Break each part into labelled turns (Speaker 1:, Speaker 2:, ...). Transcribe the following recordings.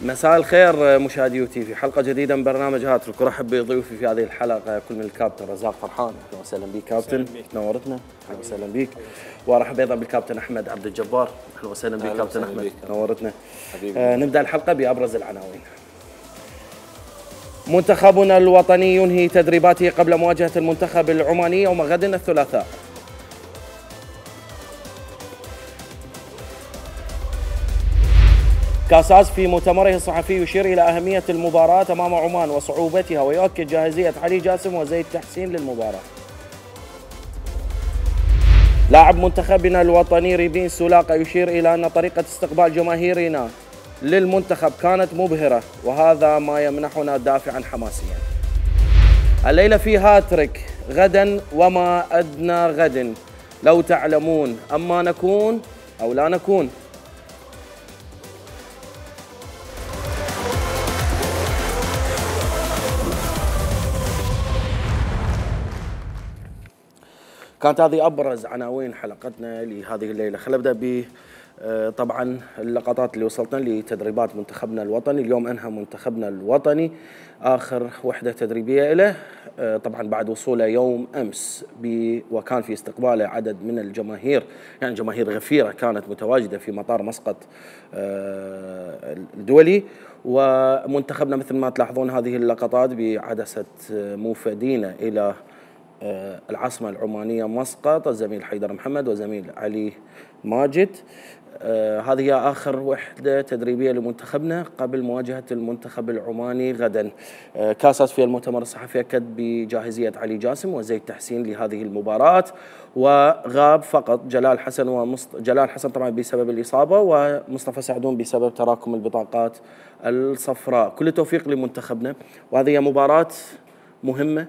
Speaker 1: مساء الخير مشاهدي يوتي، في حلقة جديدة من برنامج هاتريك، ورحب بضيوفي في هذه الحلقة كل من الكابتن رزاق فرحان. اهلا وسهلا بك كابتن، نورتنا. اهلا وسهلا بك. وارحب ايضا بالكابتن احمد عبد الجبار. اهلا وسهلا بك كابتن احمد، نورتنا. نبدأ الحلقة بأبرز العناوين. منتخبنا الوطني ينهي تدريباته قبل مواجهة المنتخب العماني يوم غد الثلاثاء. كاساس في مؤتمره الصحفي يشير إلى أهمية المباراة أمام عمان وصعوبتها، ويؤكد جاهزية علي جاسم وزيد تحسين للمباراة. لاعب منتخبنا الوطني ريبين سولاقة يشير إلى أن طريقة استقبال جماهيرنا للمنتخب كانت مبهرة، وهذا ما يمنحنا دافعا حماسيا. الليلة في هاتريك، غدا وما أدنى غد، لو تعلمون أما نكون أو لا نكون. كانت هذه أبرز عناوين حلقتنا لهذه الليلة. خلينا نبدأ ب طبعا اللقطات اللي وصلتنا لتدريبات منتخبنا الوطني. اليوم أنهى منتخبنا الوطني آخر وحدة تدريبية له، طبعا بعد وصوله يوم أمس، وكان في استقباله عدد من الجماهير، يعني جماهير غفيرة كانت متواجدة في مطار مسقط الدولي. ومنتخبنا مثل ما تلاحظون هذه اللقطات بعدسة موفدين إلى العاصمة العمانية مسقط، الزميل حيدر محمد وزميل علي ماجد. هذه هي آخر وحدة تدريبية لمنتخبنا قبل مواجهة المنتخب العماني غدا. كاساس في المؤتمر الصحفي أكد بجاهزية علي جاسم وزيد تحسين لهذه المباراة، وغاب فقط جلال حسن جلال حسن طبعا بسبب الإصابة، ومصطفى سعدون بسبب تراكم البطاقات الصفراء. كل التوفيق لمنتخبنا، وهذه هي مباراة مهمة.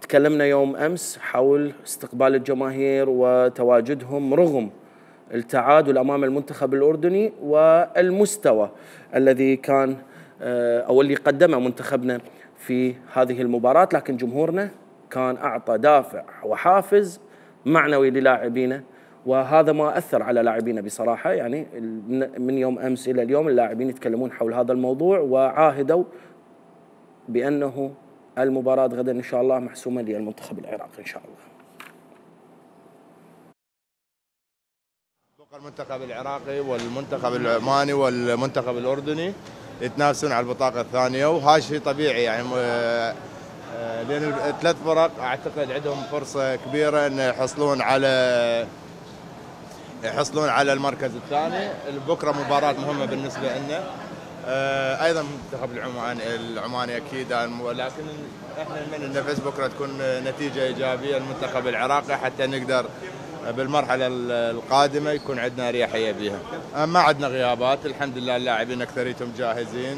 Speaker 1: تكلمنا يوم أمس حول استقبال الجماهير وتواجدهم رغم التعادل أمام المنتخب الأردني والمستوى الذي كان أو اللي قدمه منتخبنا في هذه المباراة، لكن جمهورنا كان أعطى دافع وحافز معنوي للاعبينا، وهذا ما أثر على لاعبينا بصراحة. يعني من يوم أمس إلى اليوم اللاعبين يتكلمون حول هذا الموضوع، وعاهدوا بأنه المباراة غدا إن شاء الله محسومة للمنتخب العراقي إن شاء الله.
Speaker 2: بقى المنتخب العراقي والمنتخب العماني والمنتخب الأردني يتنافسون على البطاقة الثانية، وهذا شيء طبيعي يعني، لأن الثلاث فرق أعتقد عندهم فرصة كبيرة أن يحصلون على المركز الثاني. بكرة مباراة مهمة بالنسبة لنا، ايضا المنتخب العماني اكيد، لكن احنا نتمنى ان بس بكره تكون نتيجه ايجابيه للمنتخب العراقي حتى نقدر بالمرحله القادمه يكون عندنا اريحيه بها. ما عندنا غيابات الحمد لله، اللاعبين اكثريتهم جاهزين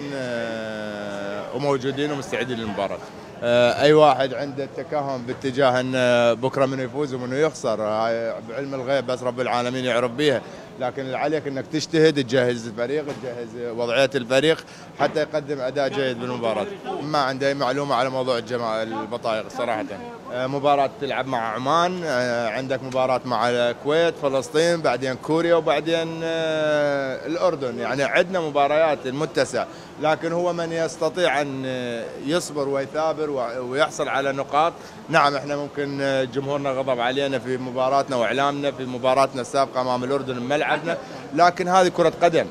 Speaker 2: وموجودين ومستعدين للمباراه. اي واحد عنده التكهن باتجاه ان بكره منو يفوز ومنو يخسر، بعلم الغيب بس رب العالمين يعرف بيها، لكن اللي عليك انك تجتهد، تجهز الفريق، تجهز وضعيه الفريق حتى يقدم اداء جيد بالمباراه. ما عندي اي معلومه على موضوع البطايق صراحه. مباراه تلعب مع عمان، عندك مباراه مع الكويت، فلسطين، بعدين كوريا، وبعدين الاردن. يعني عندنا مباريات متسعه، لكن هو من يستطيع ان يصبر ويثابر ويحصل على نقاط. نعم احنا ممكن جمهورنا غضب علينا في مباراتنا واعلامنا في مباراتنا السابقه امام الاردن بملعبنا، لكن هذه كره قدم.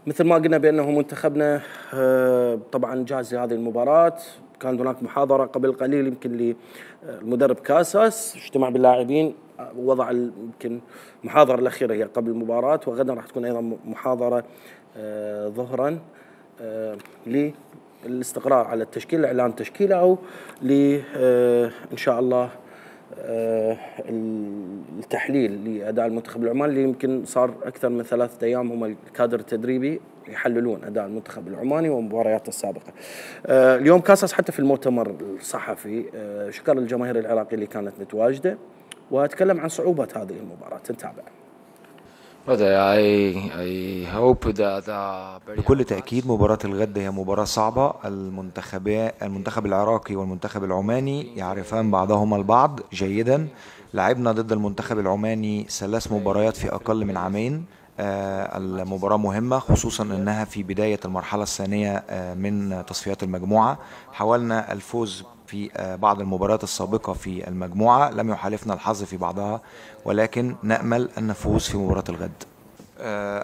Speaker 1: مثل ما قلنا بأنه منتخبنا طبعا جاهز لهذه المباراة. كان هناك محاضرة قبل قليل يمكن للمدرب كاساس، اجتمع باللاعبين، وضع يمكن المحاضرة الأخيرة هي قبل المباراة، وغدا راح تكون أيضا محاضرة ظهرا للاستقرار على التشكيل، إعلان تشكيله، أو إن شاء الله التحليل لأداء المنتخب العماني، اللي يمكن صار أكثر من 3 أيام هم الكادر التدريبي يحللون أداء المنتخب العماني ومبارياته السابقة. اليوم كاساس حتى في المؤتمر الصحفي شكر الجماهير العراقية اللي كانت متواجدة، وتكلم عن صعوبة هذه المباراة. نتابع.
Speaker 3: بكل تأكيد مباراة الغد هي مباراة صعبة. المنتخب العراقي والمنتخب العماني يعرفان بعضهما البعض جيدا. لعبنا ضد المنتخب العماني 3 مباريات في أقل من عامين. المباراة مهمة خصوصا أنها في بداية المرحلة الثانية من تصفيات المجموعة. حاولنا الفوز في بعض المباريات السابقة في المجموعة، لم يحالفنا الحظ في بعضها، ولكن نأمل أن نفوز في مباراة الغد.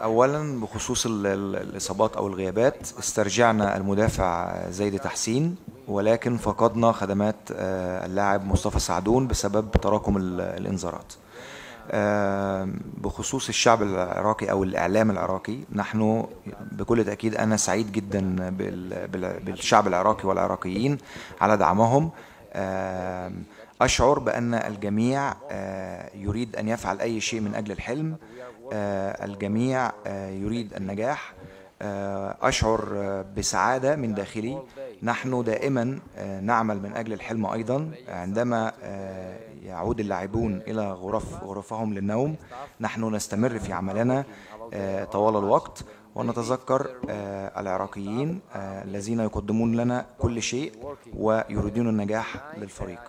Speaker 3: أولا بخصوص الإصابات أو الغيابات، استرجعنا المدافع زيد تحسين، ولكن فقدنا خدمات اللاعب مصطفى سعدون بسبب تراكم الإنذارات. بخصوص الشعب العراقي أو الإعلام العراقي، نحن بكل تأكيد أنا سعيد جدا بالشعب العراقي والعراقيين على دعمهم. أشعر بأن الجميع يريد أن يفعل أي شيء من أجل الحلم. الجميع يريد النجاح. أشعر بسعادة من داخلي. نحن دائما نعمل من أجل الحلم أيضا. عندما يعود اللاعبون إلى غرفهم للنوم، نحن نستمر في عملنا طوال الوقت، ونتذكر العراقيين الذين يقدمون لنا كل شيء ويريدون النجاح للفريق.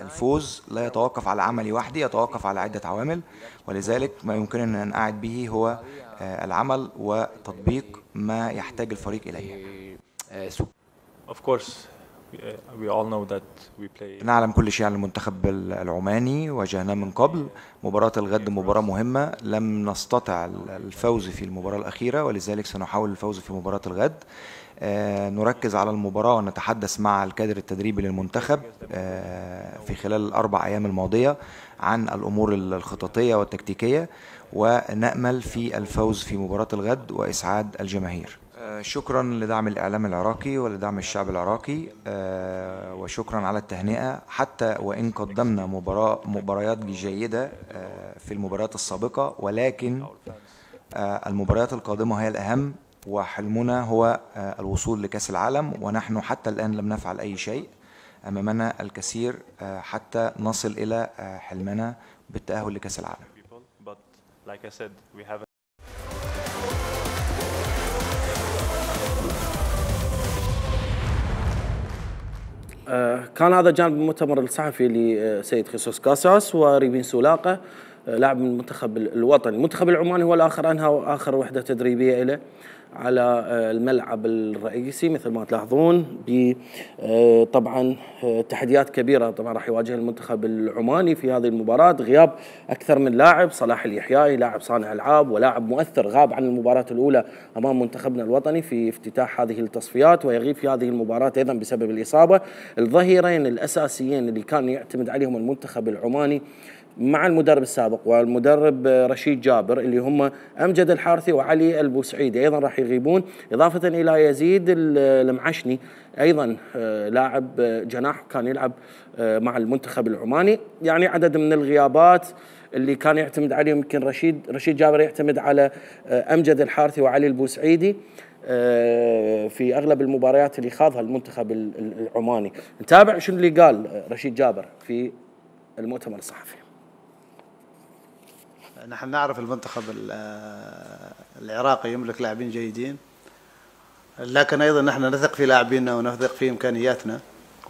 Speaker 3: الفوز لا يتوقف على عملي وحدي، يتوقف على عدة عوامل، ولذلك ما يمكننا أن نعد به هو العمل وتطبيق ما يحتاج الفريق إليه. نعلم كل شيء عن المنتخب العماني، واجهناه من قبل. مباراة الغد مباراة مهمة، لم نستطع الفوز في المباراة الأخيرة، ولذلك سنحاول الفوز في مباراة الغد. نركز على المباراة ونتحدث مع الكادر التدريبي للمنتخب في خلال ال4 أيام الماضية عن الأمور الخططية والتكتيكية، ونأمل في الفوز في مباراة الغد وإسعاد الجماهير. شكرا لدعم الإعلام العراقي ولدعم الشعب العراقي، وشكرا على التهنئة. حتى وإن قدمنا مباريات جيدة في المباريات السابقة، ولكن المباريات القادمة هي الأهم، وحلمنا هو الوصول لكأس العالم، ونحن حتى الآن لم نفعل أي شيء. أمامنا الكثير حتى نصل إلى حلمنا بالتأهل لكأس العالم.
Speaker 1: كان هذا جانب المؤتمر الصحفي لسيد خيسوس كاساس وريفين سولاقة، لاعب من المنتخب الوطني. المنتخب العماني هو الآخر أنهى آخر وحدة تدريبية له على الملعب الرئيسي مثل ما تلاحظون. طبعا تحديات كبيرة طبعا راح يواجه المنتخب العماني في هذه المباراة. غياب أكثر من لاعب، صلاح اليحيائي لاعب صانع ألعاب ولاعب مؤثر غاب عن المباراة الأولى أمام منتخبنا الوطني في افتتاح هذه التصفيات، ويغيب في هذه المباراة أيضا بسبب الإصابة. الظهيرين الأساسيين اللي كان يعتمد عليهم المنتخب العماني مع المدرب السابق والمدرب رشيد جابر، اللي هم أمجد الحارثي وعلي البوسعيدي، أيضا راح يغيبون، إضافة إلى يزيد المعشني أيضا لاعب جناح كان يلعب مع المنتخب العماني. يعني عدد من الغيابات اللي كان يعتمد عليهم. يمكن رشيد جابر يعتمد على أمجد الحارثي وعلي البوسعيدي في أغلب المباريات اللي خاضها المنتخب العماني. نتابع شنو اللي قال رشيد جابر في المؤتمر الصحفي.
Speaker 4: نحن نعرف المنتخب العراقي يملك لاعبين جيدين، لكن أيضا نحن نثق في لاعبينا ونثق في إمكانياتنا،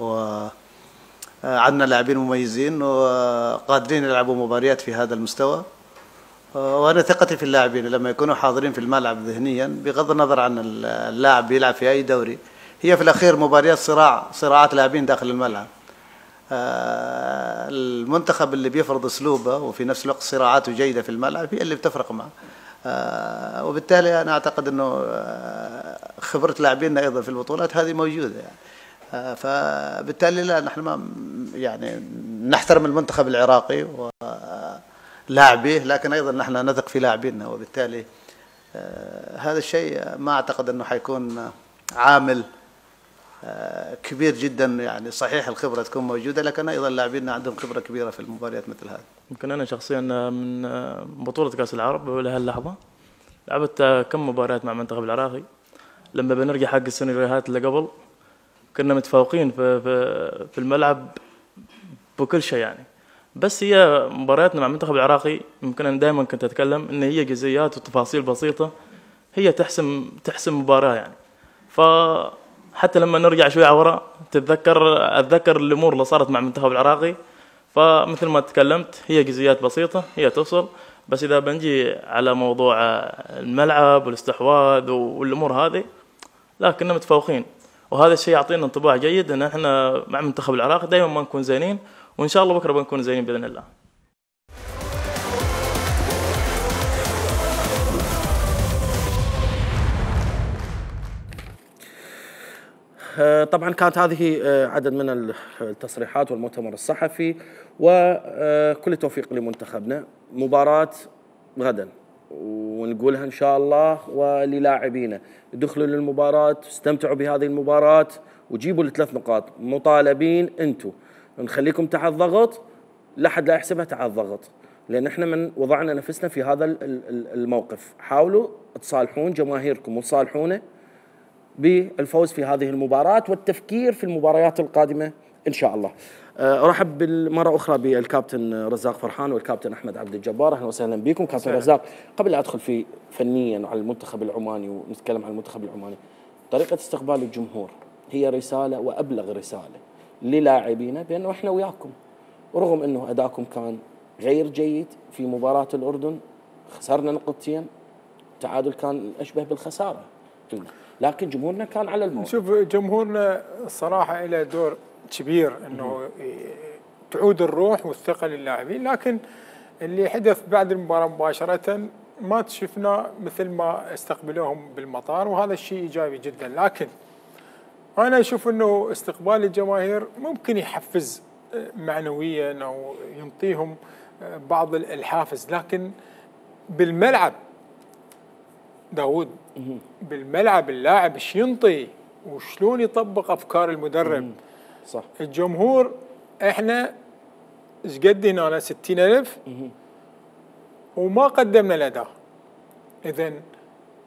Speaker 4: وعندنا لاعبين مميزين وقادرين يلعبوا مباريات في هذا المستوى. وأنا ثقتي في اللاعبين لما يكونوا حاضرين في الملعب ذهنيا، بغض النظر عن اللاعب بيلعب في أي دوري، هي في الأخير مباريات صراعات لاعبين داخل الملعب. المنتخب اللي بيفرض اسلوبه وفي نفس الوقت صراعاته جيده في الملعب هي اللي بتفرق معه. وبالتالي انا اعتقد انه خبره لاعبينا ايضا في البطولات هذه موجوده يعني. فبالتالي لا، نحن ما يعني نحترم المنتخب العراقي ولاعبيه، لكن ايضا نحن نثق في لاعبينا، وبالتالي هذا الشيء ما اعتقد انه حيكون عامل كبير جدا. يعني صحيح الخبرة تكون موجودة، لكن أيضا لاعبينا عندهم خبرة كبيرة في المباريات مثل هذه.
Speaker 5: يمكن أنا شخصيا من بطولة كأس العرب لهاللحظة لعبت كم مباريات مع المنتخب العراقي. لما بنرجع حق السيناريوهات اللي قبل كنا متفوقين في الملعب بكل شيء، يعني بس هي مبارياتنا مع المنتخب العراقي يمكن أنا دائما كنت أتكلم إن هي جزئيات وتفاصيل بسيطة هي تحسم مباراة يعني. فحتى لما نرجع شوي على وراء أتذكر الأمور اللي صارت مع المنتخب العراقي، فمثل ما تكلمت هي جزئيات بسيطة هي توصل. بس إذا بنجي على موضوع الملعب والاستحواذ والأمور هذه لا كنا متفوقين، وهذا الشيء يعطينا انطباع جيد ان احنا مع المنتخب العراقي دائما ما نكون زينين، وان شاء الله بكره بنكون زينين باذن الله.
Speaker 1: طبعا كانت هذه عدد من التصريحات والمؤتمر الصحفي، وكل التوفيق لمنتخبنا. مباراة غدا ونقولها ان شاء الله، وللاعبينا ادخلوا للمباراة، استمتعوا بهذه المباراة وجيبوا ال3 نقاط. مطالبين انتم، نخليكم تحت ضغط، لا حد لا يحسبها تحت ضغط، لان احنا من وضعنا نفسنا في هذا الموقف. حاولوا تصالحون جماهيركم وتصالحونا بالفوز في هذه المباراة والتفكير في المباريات القادمة ان شاء الله. ارحب مرة اخرى بالكابتن رزاق فرحان والكابتن احمد عبد الجبار. اهلا وسهلا بكم كابتن رزاق. قبل لا ادخل في فنيا على المنتخب العماني ونتكلم عن المنتخب العماني، طريقة استقبال الجمهور هي رسالة وابلغ رسالة للاعبينا بانه احنا وياكم، ورغم انه اداءكم كان غير جيد في مباراة الاردن، خسرنا نقطتين، تعادل كان اشبه بالخسارة، لكن جمهورنا كان على الموعد.
Speaker 6: شوف جمهورنا الصراحة له دور كبير انه تعود الروح والثقة للاعبين، لكن اللي حدث بعد المباراة مباشرة ما شفنا مثل ما استقبلوهم بالمطار، وهذا الشيء ايجابي جدا. لكن انا اشوف انه استقبال الجماهير ممكن يحفز معنويا او ينطيهم بعض الحافز، لكن بالملعب داود بالملعب اللاعب ايش ينطي وشلون يطبق افكار المدرب.
Speaker 1: صح.
Speaker 6: الجمهور احنا ايش قد هنا 60,000 وما قدمنا الاداء، اذا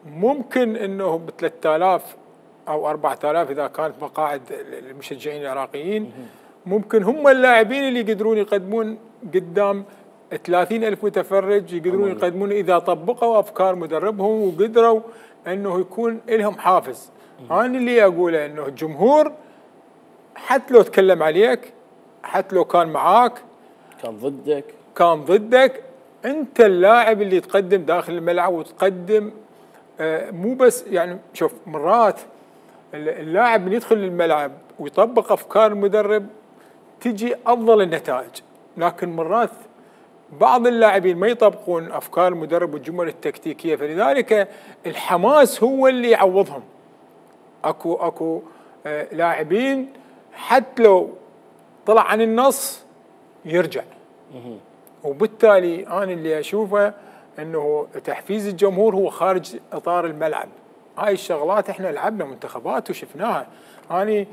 Speaker 6: ممكن انه ب 3000 او 4000 اذا كانت مقاعد المشجعين العراقيين، ممكن هم اللاعبين اللي يقدرون يقدمون قدام 30,000 متفرج، يقدرون يقدمون اذا طبقوا افكار مدربهم وقدروا انه يكون لهم حافز. انا اللي اقوله انه الجمهور حتى لو تكلم عليك، حتى لو كان معاك، كان ضدك، انت اللاعب اللي تقدم داخل الملعب وتقدم مو بس يعني. شوف مرات اللاعب من يدخل الملعب ويطبق افكار المدرب تجي افضل النتائج، لكن مرات بعض اللاعبين ما يطبقون افكار المدرب والجمل التكتيكيه، فلذلك الحماس هو اللي يعوضهم. اكو لاعبين حتى لو طلع عن النص يرجع، وبالتالي انا اللي اشوفه انه تحفيز الجمهور هو خارج اطار الملعب. هاي الشغلات احنا لعبنا منتخبات وشفناها، انا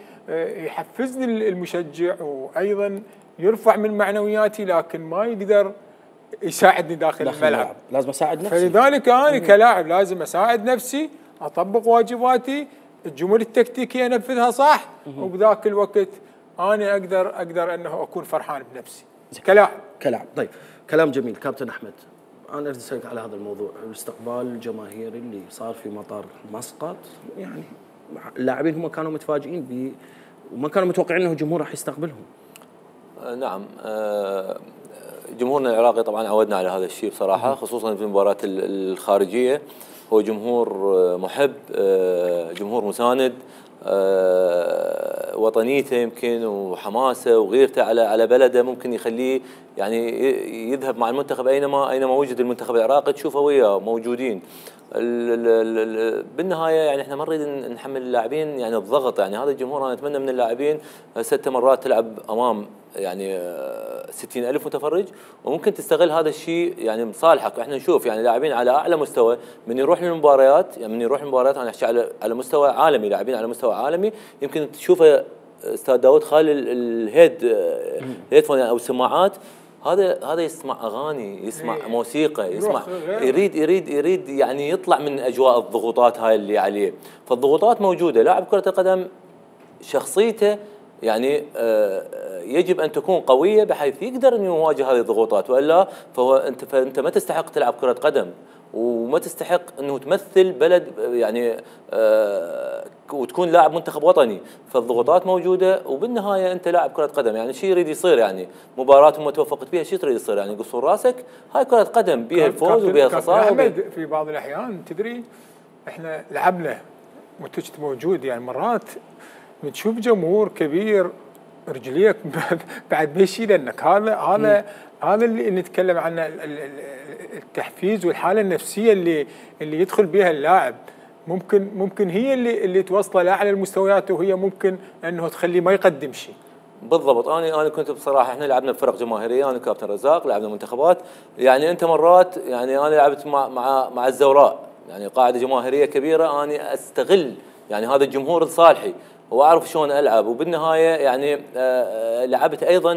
Speaker 6: يحفزني المشجع وايضا يرفع من معنوياتي، لكن ما يقدر يساعدني داخل الملعب.
Speaker 1: لازم اساعد نفسي،
Speaker 6: فلذلك انا كلاعب لازم اساعد نفسي، اطبق واجباتي، الجمل التكتيكيه انفذها صح، وبذاك الوقت انا اقدر انه اكون فرحان بنفسي كلاعب.
Speaker 1: طيب كلام جميل كابتن احمد. انا اريد اسالك على هذا الموضوع، الاستقبال الجماهيري اللي صار في مطار مسقط، يعني اللاعبين هم كانوا متفاجئين وما كانوا متوقعين انه الجمهور راح يستقبلهم.
Speaker 7: نعم، جمهورنا العراقي طبعا عودنا على هذا الشيء بصراحه، خصوصا في المباريات الخارجيه. هو جمهور محب، جمهور مساند، وطنيته يمكن وحماسه وغيرته على بلده ممكن يخليه يعني يذهب مع المنتخب اينما وجد المنتخب العراقي تشوفه وياه موجودين. بالنهايه يعني احنا ما نريد نحمل اللاعبين يعني الضغط، يعني هذا الجمهور انا اتمنى من اللاعبين 6 مرات تلعب امام يعني 60,000 متفرج، وممكن تستغل هذا الشيء يعني بصالحك. احنا نشوف يعني لاعبين على اعلى مستوى من يروح للمباريات، يعني من يروح للمباريات انا احكي على مستوى عالمي، لاعبين على مستوى عالمي يمكن تشوفه استاذ داود خالي الهيدفون او السماعات، هذا يسمع اغاني، يسمع موسيقى، يسمع يريد يعني يطلع من اجواء الضغوطات هاي اللي عليه. فالضغوطات موجوده، لاعب كره القدم شخصيته يعني يجب ان تكون قويه بحيث يقدر انه يواجه هذه الضغوطات، والا فانت ما تستحق تلعب كره قدم، وما تستحق انه تمثل بلد يعني وتكون لاعب منتخب وطني. فالضغوطات موجوده، وبالنهايه انت لاعب كره قدم، يعني شيء يريد يصير، يعني مباراه ما توفقت فيها شيء تريد يصير، يعني قصور راسك، هاي كره قدم بيها الفوز وبيها الخساره.
Speaker 6: احمد في بعض الاحيان تدري احنا لعبنا وانت كنت موجود، يعني مرات تشوف جمهور كبير رجليك بعد ما يشيل لك. هذا اللي نتكلم عنه، التحفيز والحاله النفسيه اللي يدخل بها اللاعب، ممكن هي اللي توصله لاعلى المستويات، وهي ممكن انه تخليه ما يقدم شيء.
Speaker 7: بالضبط. انا كنت بصراحه احنا لعبنا بفرق جماهيريه، انا كابتن رزاق لعبنا منتخبات، يعني انت مرات يعني انا لعبت مع الزوراء، يعني قاعده جماهيريه كبيره، انا استغل يعني هذا الجمهور لصالحي واعرف شلون العب. وبالنهايه يعني لعبت ايضا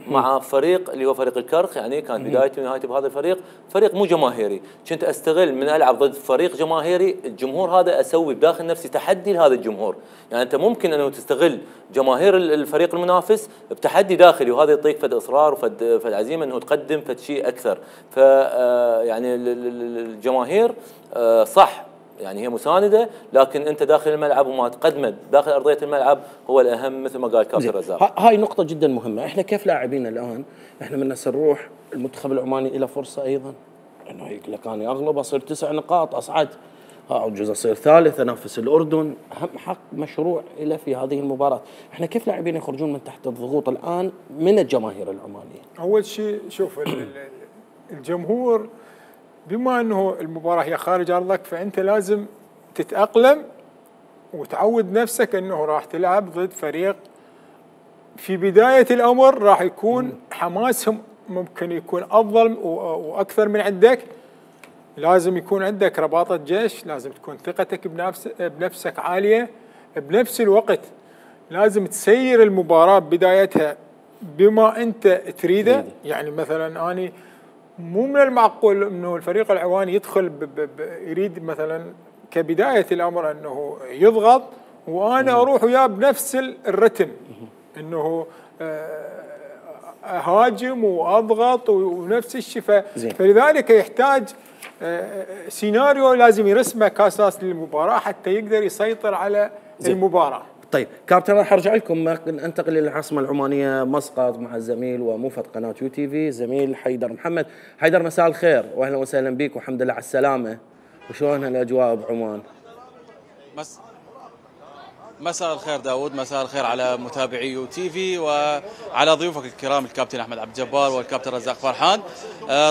Speaker 7: مع فريق اللي هو فريق الكرخ، يعني كانت بدايتي ونهايتي بهذا الفريق، فريق مو جماهيري، كنت استغل من العب ضد فريق جماهيري الجمهور هذا اسوي بداخل نفسي تحدي لهذا الجمهور. يعني انت ممكن انه تستغل جماهير الفريق المنافس بتحدي داخلي، وهذا يعطيك فد اصرار وفد عزيمه انه تقدم فد شيء اكثر. ف يعني الجماهير صح يعني هي مساندة، لكن أنت داخل الملعب وما تقدمت داخل أرضية الملعب هو الأهم، مثل ما قال كابتن رزاق.
Speaker 1: هاي نقطة جدا مهمة. إحنا كيف لاعبين الآن؟ إحنا من نروح المنتخب العماني إلى فرصة أيضا إنه يقول لك أنا أغلب أصير 9 نقاط أصعد، أعجز أصير ثالث أنافس الأردن، أهم حق مشروع إلى في هذه المباراة. إحنا كيف لاعبين يخرجون من تحت الضغوط الآن من الجماهير العمانية؟
Speaker 6: أول شيء شوف الجمهور، بما أنه المباراة هي خارج أرضك، فأنت لازم تتأقلم وتعود نفسك أنه راح تلعب ضد فريق في بداية الأمر راح يكون حماسهم ممكن يكون أفضل وأكثر من عندك. لازم يكون عندك رباطة جيش، لازم تكون ثقتك بنفسك عالية، بنفس الوقت لازم تسير المباراة بدايتها بما أنت تريده. يعني مثلا أنا مو من المعقول انه الفريق العواني يدخل يريد مثلا كبدايه الامر انه يضغط وانا اروح وياه بنفس الرتم، انه اهاجم واضغط ونفس الشيء. فلذلك يحتاج سيناريو لازم يرسمه كاساس للمباراه حتى يقدر يسيطر على المباراه.
Speaker 1: طيب كابتن، راح ارجع لكم، انتقل الى العاصمه العمانيه مسقط مع الزميل وموفد قناه يو تي في زميل حيدر محمد. حيدر مساء الخير واهلا وسهلا بك والحمد لله على السلامه. وشلون الاجواء بعمان؟
Speaker 8: مساء الخير داود، مساء الخير على متابعي يو تي في وعلى ضيوفك الكرام الكابتن احمد عبد الجبار والكابتن رزاق فرحان.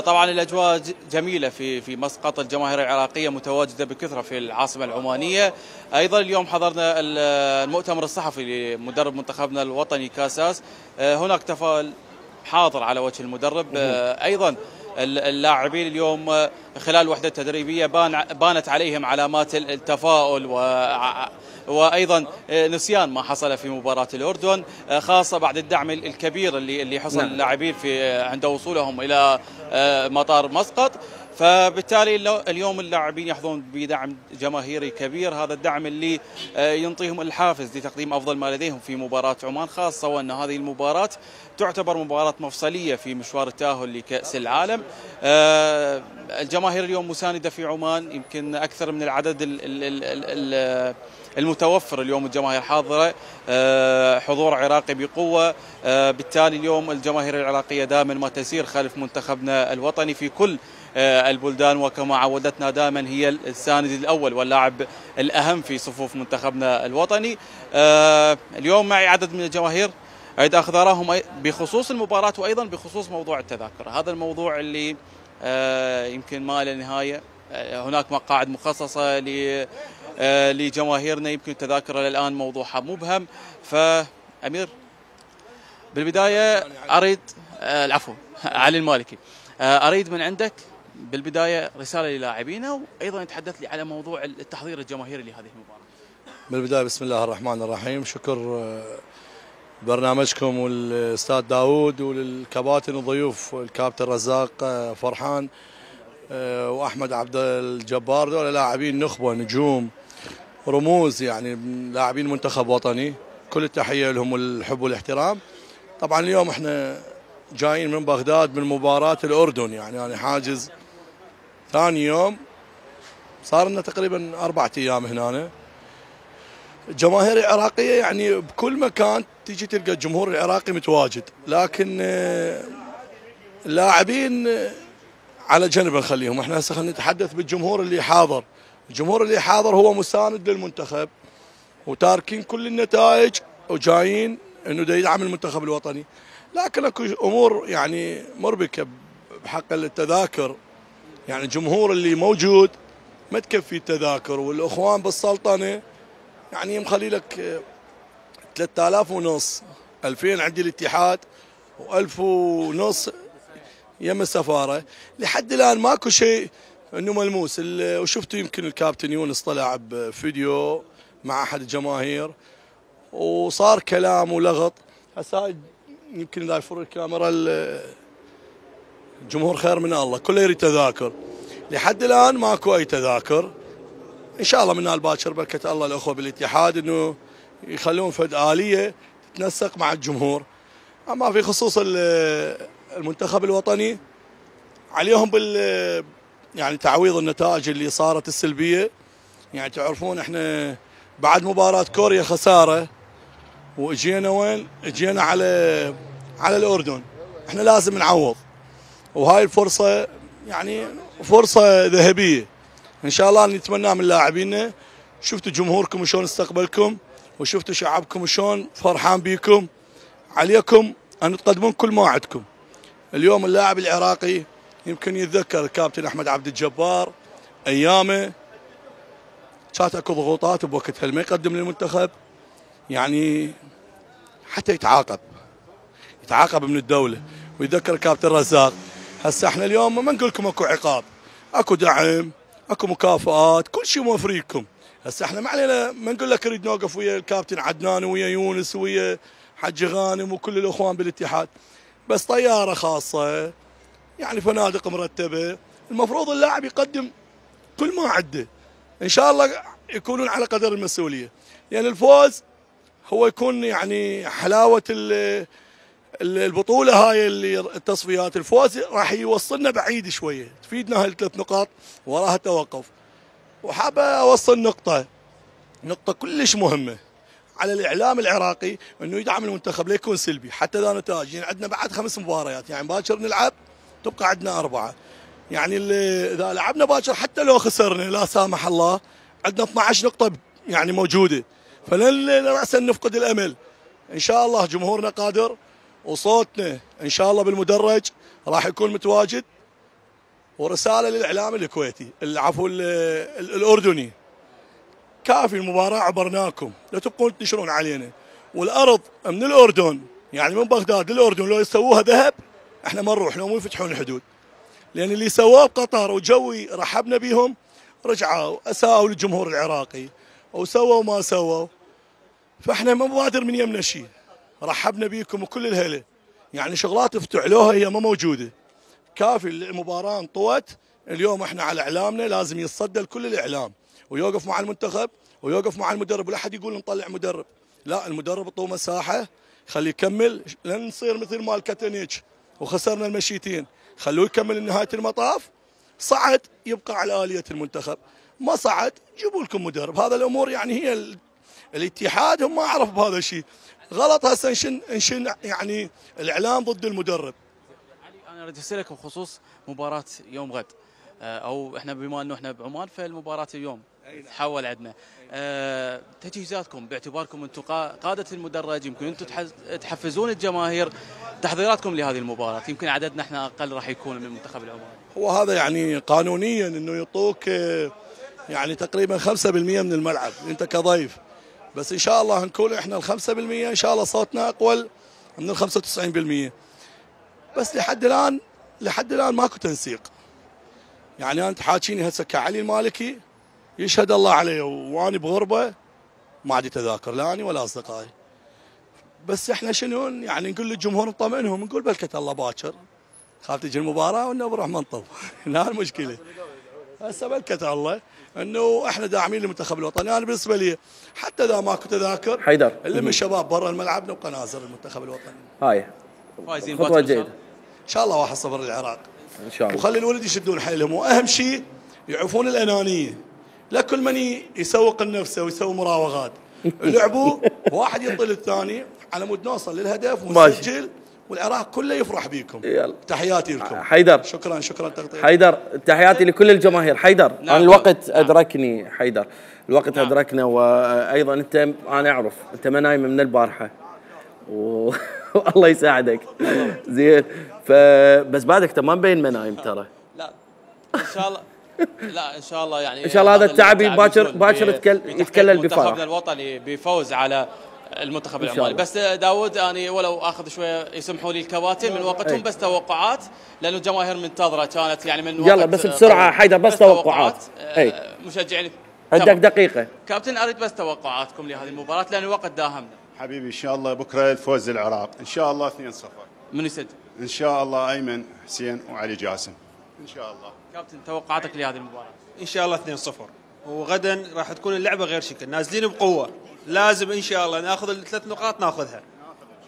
Speaker 8: طبعا الاجواء جميله في مسقط، الجماهير العراقيه متواجده بكثره في العاصمه العمانيه. ايضا اليوم حضرنا المؤتمر الصحفي لمدرب منتخبنا الوطني كاساس، هناك تفاؤل حاضر على وجه المدرب. ايضا اللاعبين اليوم خلال الوحده التدريبيه بانت عليهم علامات التفاؤل وايضا نسيان ما حصل في مباراه الاردن، خاصه بعد الدعم الكبير اللي حصل اللاعبين عند وصولهم الى مطار مسقط. فبالتالي اليوم اللاعبين يحظون بدعم جماهيري كبير، هذا الدعم اللي ينطيهم الحافز لتقديم افضل ما لديهم في مباراه عمان، خاصه وان هذه المباراه تعتبر مباراه مفصليه في مشوار التاهل لكاس العالم. الجماهير اليوم مسانده في عمان، يمكن اكثر من العدد المتوفر اليوم، الجماهير حاضره، حضور عراقي بقوه. بالتالي اليوم الجماهير العراقيه دائما ما تسير خلف منتخبنا الوطني في كل البلدان، وكما عودتنا دائما هي الساند الاول واللاعب الاهم في صفوف منتخبنا الوطني. اليوم معي عدد من الجماهير أريد أخذ آراءهم بخصوص المباراة وأيضا بخصوص موضوع التذاكر. هذا الموضوع اللي يمكن ما له نهاية، هناك مقاعد مخصصة لجماهيرنا، يمكن التذاكر الآن موضوعها مبهم. فأمير بالبداية أريد العفو علي المالكي، أريد من عندك بالبداية رسالة للاعبينا وأيضا يتحدث لي على موضوع التحضير الجماهيري لهذه المباراة.
Speaker 9: بالبداية بسم الله الرحمن الرحيم، شكر برنامجكم والاستاذ داود وللكباتن وضيوف الكابتن رزاق فرحان واحمد عبد الجبار، دول لاعبين نخبه نجوم رموز، يعني لاعبين منتخب وطني كل التحيه لهم والحب والاحترام. طبعا اليوم احنا جايين من بغداد من مباراه الاردن، يعني انا حاجز ثاني يوم، صار لنا تقريبا 4 ايام هنا. الجماهير العراقيه يعني بكل مكان تيجي تلقى الجمهور العراقي متواجد، لكن اللاعبين على جنب نخليهم. احنا هسه خلينا نتحدث بالجمهور اللي حاضر. الجمهور اللي حاضر هو مساند للمنتخب وتاركين كل النتائج وجايين انه دا يدعم المنتخب الوطني، لكن اكو امور يعني مربكه بحق التذاكر. يعني الجمهور اللي موجود ما تكفي التذاكر، والاخوان بالسلطنه يعني مخلي لك 3000 ونص، 2000 عند الاتحاد و1000 ونص يم السفاره. لحد الان ماكو شيء انه ملموس. وشفتوا يمكن الكابتن يونس طلع بفيديو مع احد الجماهير وصار كلام ولغط. هسه يمكن اذا يفر الكاميرا الجمهور خير من الله، كله يريد تذاكر. لحد الان ماكو اي تذاكر. ان شاء الله من الباكر بركه الله الاخوه بالاتحاد انه يخلون فد اليه تتنسق مع الجمهور. اما في خصوص المنتخب الوطني عليهم يعني تعويض النتائج اللي صارت السلبيه. يعني تعرفون احنا بعد مباراه كوريا خساره واجينا وين؟ اجينا على الاردن. احنا لازم نعوض، وهاي الفرصه يعني فرصه ذهبيه. ان شاء الله نتمنى من لاعبينا. شفتوا جمهوركم شلون استقبلكم، وشفتوا شعبكم شلون فرحان بيكم. عليكم ان تقدمون كل ما عندكم. اليوم اللاعب العراقي يمكن يتذكر الكابتن احمد عبد الجبار ايامه كانت اكو ضغوطات بوقتها ما يقدم للمنتخب، يعني حتى يتعاقب من الدوله. ويتذكر الكابتن رزاق. هسه احنا اليوم ما نقول لكم اكو عقاب، اكو دعم، اكو مكافآت، كل شيء موفر لكم. هسه احنا ما علينا ما نقول لك نريد نوقف ويا الكابتن عدنان ويا يونس ويا حج غانم وكل الاخوان بالاتحاد، بس طياره خاصه يعني فنادق مرتبه. المفروض اللاعب يقدم كل ما عنده. ان شاء الله يكونون على قدر المسؤوليه، يعني الفوز هو يكون يعني حلاوه البطوله هاي اللي التصفيات. الفوز راح يوصلنا بعيد شويه، تفيدنا هاي ال3 نقاط وراها توقف. وحابه اوصل نقطه كلش مهمه على الاعلام العراقي انه يدعم المنتخب لا يكون سلبي حتى ذا نتائج. يعني عندنا بعد 5 مباريات، يعني باكر نلعب تبقى عندنا 4. يعني اذا لعبنا باكر حتى لو خسرنا لا سامح الله عندنا 12 نقطه يعني موجوده، فلن راسا نفقد الامل. ان شاء الله جمهورنا قادر، وصوتنا ان شاء الله بالمدرج راح يكون متواجد. ورساله للاعلام الكويتي عفوا الاردني، كافي المباراه عبرناكم، لا تبقون تنشرون علينا. والارض من الاردن يعني من بغداد للاردن لو يسووها ذهب احنا ما نروح، لو مو يفتحون الحدود. لان اللي سووه بقطر وجوي رحبنا بهم رجعوا اساءوا للجمهور العراقي وسووا ما سووا. فاحنا ما بادر من يمنا شيء، رحبنا بيكم وكل الهلا. يعني شغلات افتعلوها هي ما موجوده. كافي المباراه انطوت. اليوم احنا على اعلامنا لازم يتصدى لكل الاعلام ويوقف مع المنتخب ويوقف مع المدرب. ولا حد يقول نطلع مدرب، لا، المدرب اعطوه مساحه خليه يكمل. لن نصير مثل مال كاتانيتش وخسرنا المشيتين، خلوه يكمل لنهايه المطاف. صعد يبقى على آلية المنتخب، ما صعد جيبوا لكم مدرب. هذا الامور يعني هي الاتحاد هم ما عرف بهذا الشيء غلط. هسه نشن يعني الاعلام ضد المدرب.
Speaker 8: انا اريد اسالك بخصوص مباراه يوم غد، او احنا بما انه احنا بعمان فالمباراه اليوم تحول عندنا. تجهيزاتكم باعتباركم انتم قاده المدرج، يمكن انتم تحفزون الجماهير، تحضيراتكم لهذه المباراه. يمكن عددنا احنا اقل راح يكون من المنتخب العماني.
Speaker 9: هو هذا يعني قانونيا انه يعطوك يعني تقريبا 5% من الملعب انت كضيف، بس ان شاء الله نكون احنا ال 5% ان شاء الله صوتنا اقوى من ال 95%. بس لحد الان ماكو تنسيق. يعني انت حاكيني هسه كعلي المالكي يشهد الله عليه واني بغربه ما عندي تذاكر لا اني ولا اصدقائي. بس احنا شنو يعني نقول للجمهور نطمئنهم، نقول بلكة الله باكر خاف تجي المباراه وانه بروح منطب. هنا المشكله. هسه بلكت الله انه احنا داعمين للمنتخب الوطني. انا بالنسبه لي حتى اذا ماكو تذاكر
Speaker 1: حيدر
Speaker 9: اللي من الشباب برا الملعب نبقى نازل المنتخب الوطني.
Speaker 1: هاي
Speaker 8: فايزين
Speaker 1: خطوه جيده
Speaker 9: ان شاء الله 1-0 للعراق
Speaker 1: ان شاء الله.
Speaker 9: وخلي الولد يشدون حيلهم، واهم شيء يعرفون الانانيه، لا كل من يسوق لنفسه ويسوي مراوغات. لعبوا واحد يطل الثاني على مود نوصل للهدف ونسجل والعراق كله يفرح بيكم.
Speaker 1: يلا.
Speaker 9: تحياتي لكم.
Speaker 1: حيدر
Speaker 9: شكرا تغطية.
Speaker 1: حيدر تحياتي لكل الجماهير. حيدر
Speaker 8: نعم.
Speaker 1: أنا الوقت أدركني حيدر، الوقت نعم. أدركنا، وأيضا أنت أنا أعرف أنت ما نايم من البارحة والله يساعدك زين، فبس بعدك تمام بين ما نايم ترى.
Speaker 8: لا ان شاء الله لا ان شاء الله يعني
Speaker 1: ان شاء الله هذا التعب باكر يتكلل بفرح.
Speaker 8: منتخبنا الوطني بفوز على المنتخب العماني. بس داود اني ولو اخذ شويه يسمحوا لي الكباتن من وقتهم، بس توقعات لانه الجماهير منتظره كانت يعني من وقت.
Speaker 1: يلا بس بسرعه حيدر، بس توقعات
Speaker 8: مشجعين.
Speaker 1: عندك دقيقه
Speaker 8: كابتن، اريد بس توقعاتكم لهذه المباراه لان الوقت داهمنا.
Speaker 10: حبيبي ان شاء الله بكره الفوز للعراق ان شاء الله 2-0.
Speaker 8: من يسجل؟
Speaker 10: ان شاء الله ايمن حسين وعلي جاسم ان شاء الله.
Speaker 8: كابتن توقعاتك لهذه المباراه؟
Speaker 11: ان شاء الله 2-0، وغدا راح تكون اللعبه غير شكل، نازلين بقوه، لازم ان شاء الله ناخذ ال3 نقاط ناخذها.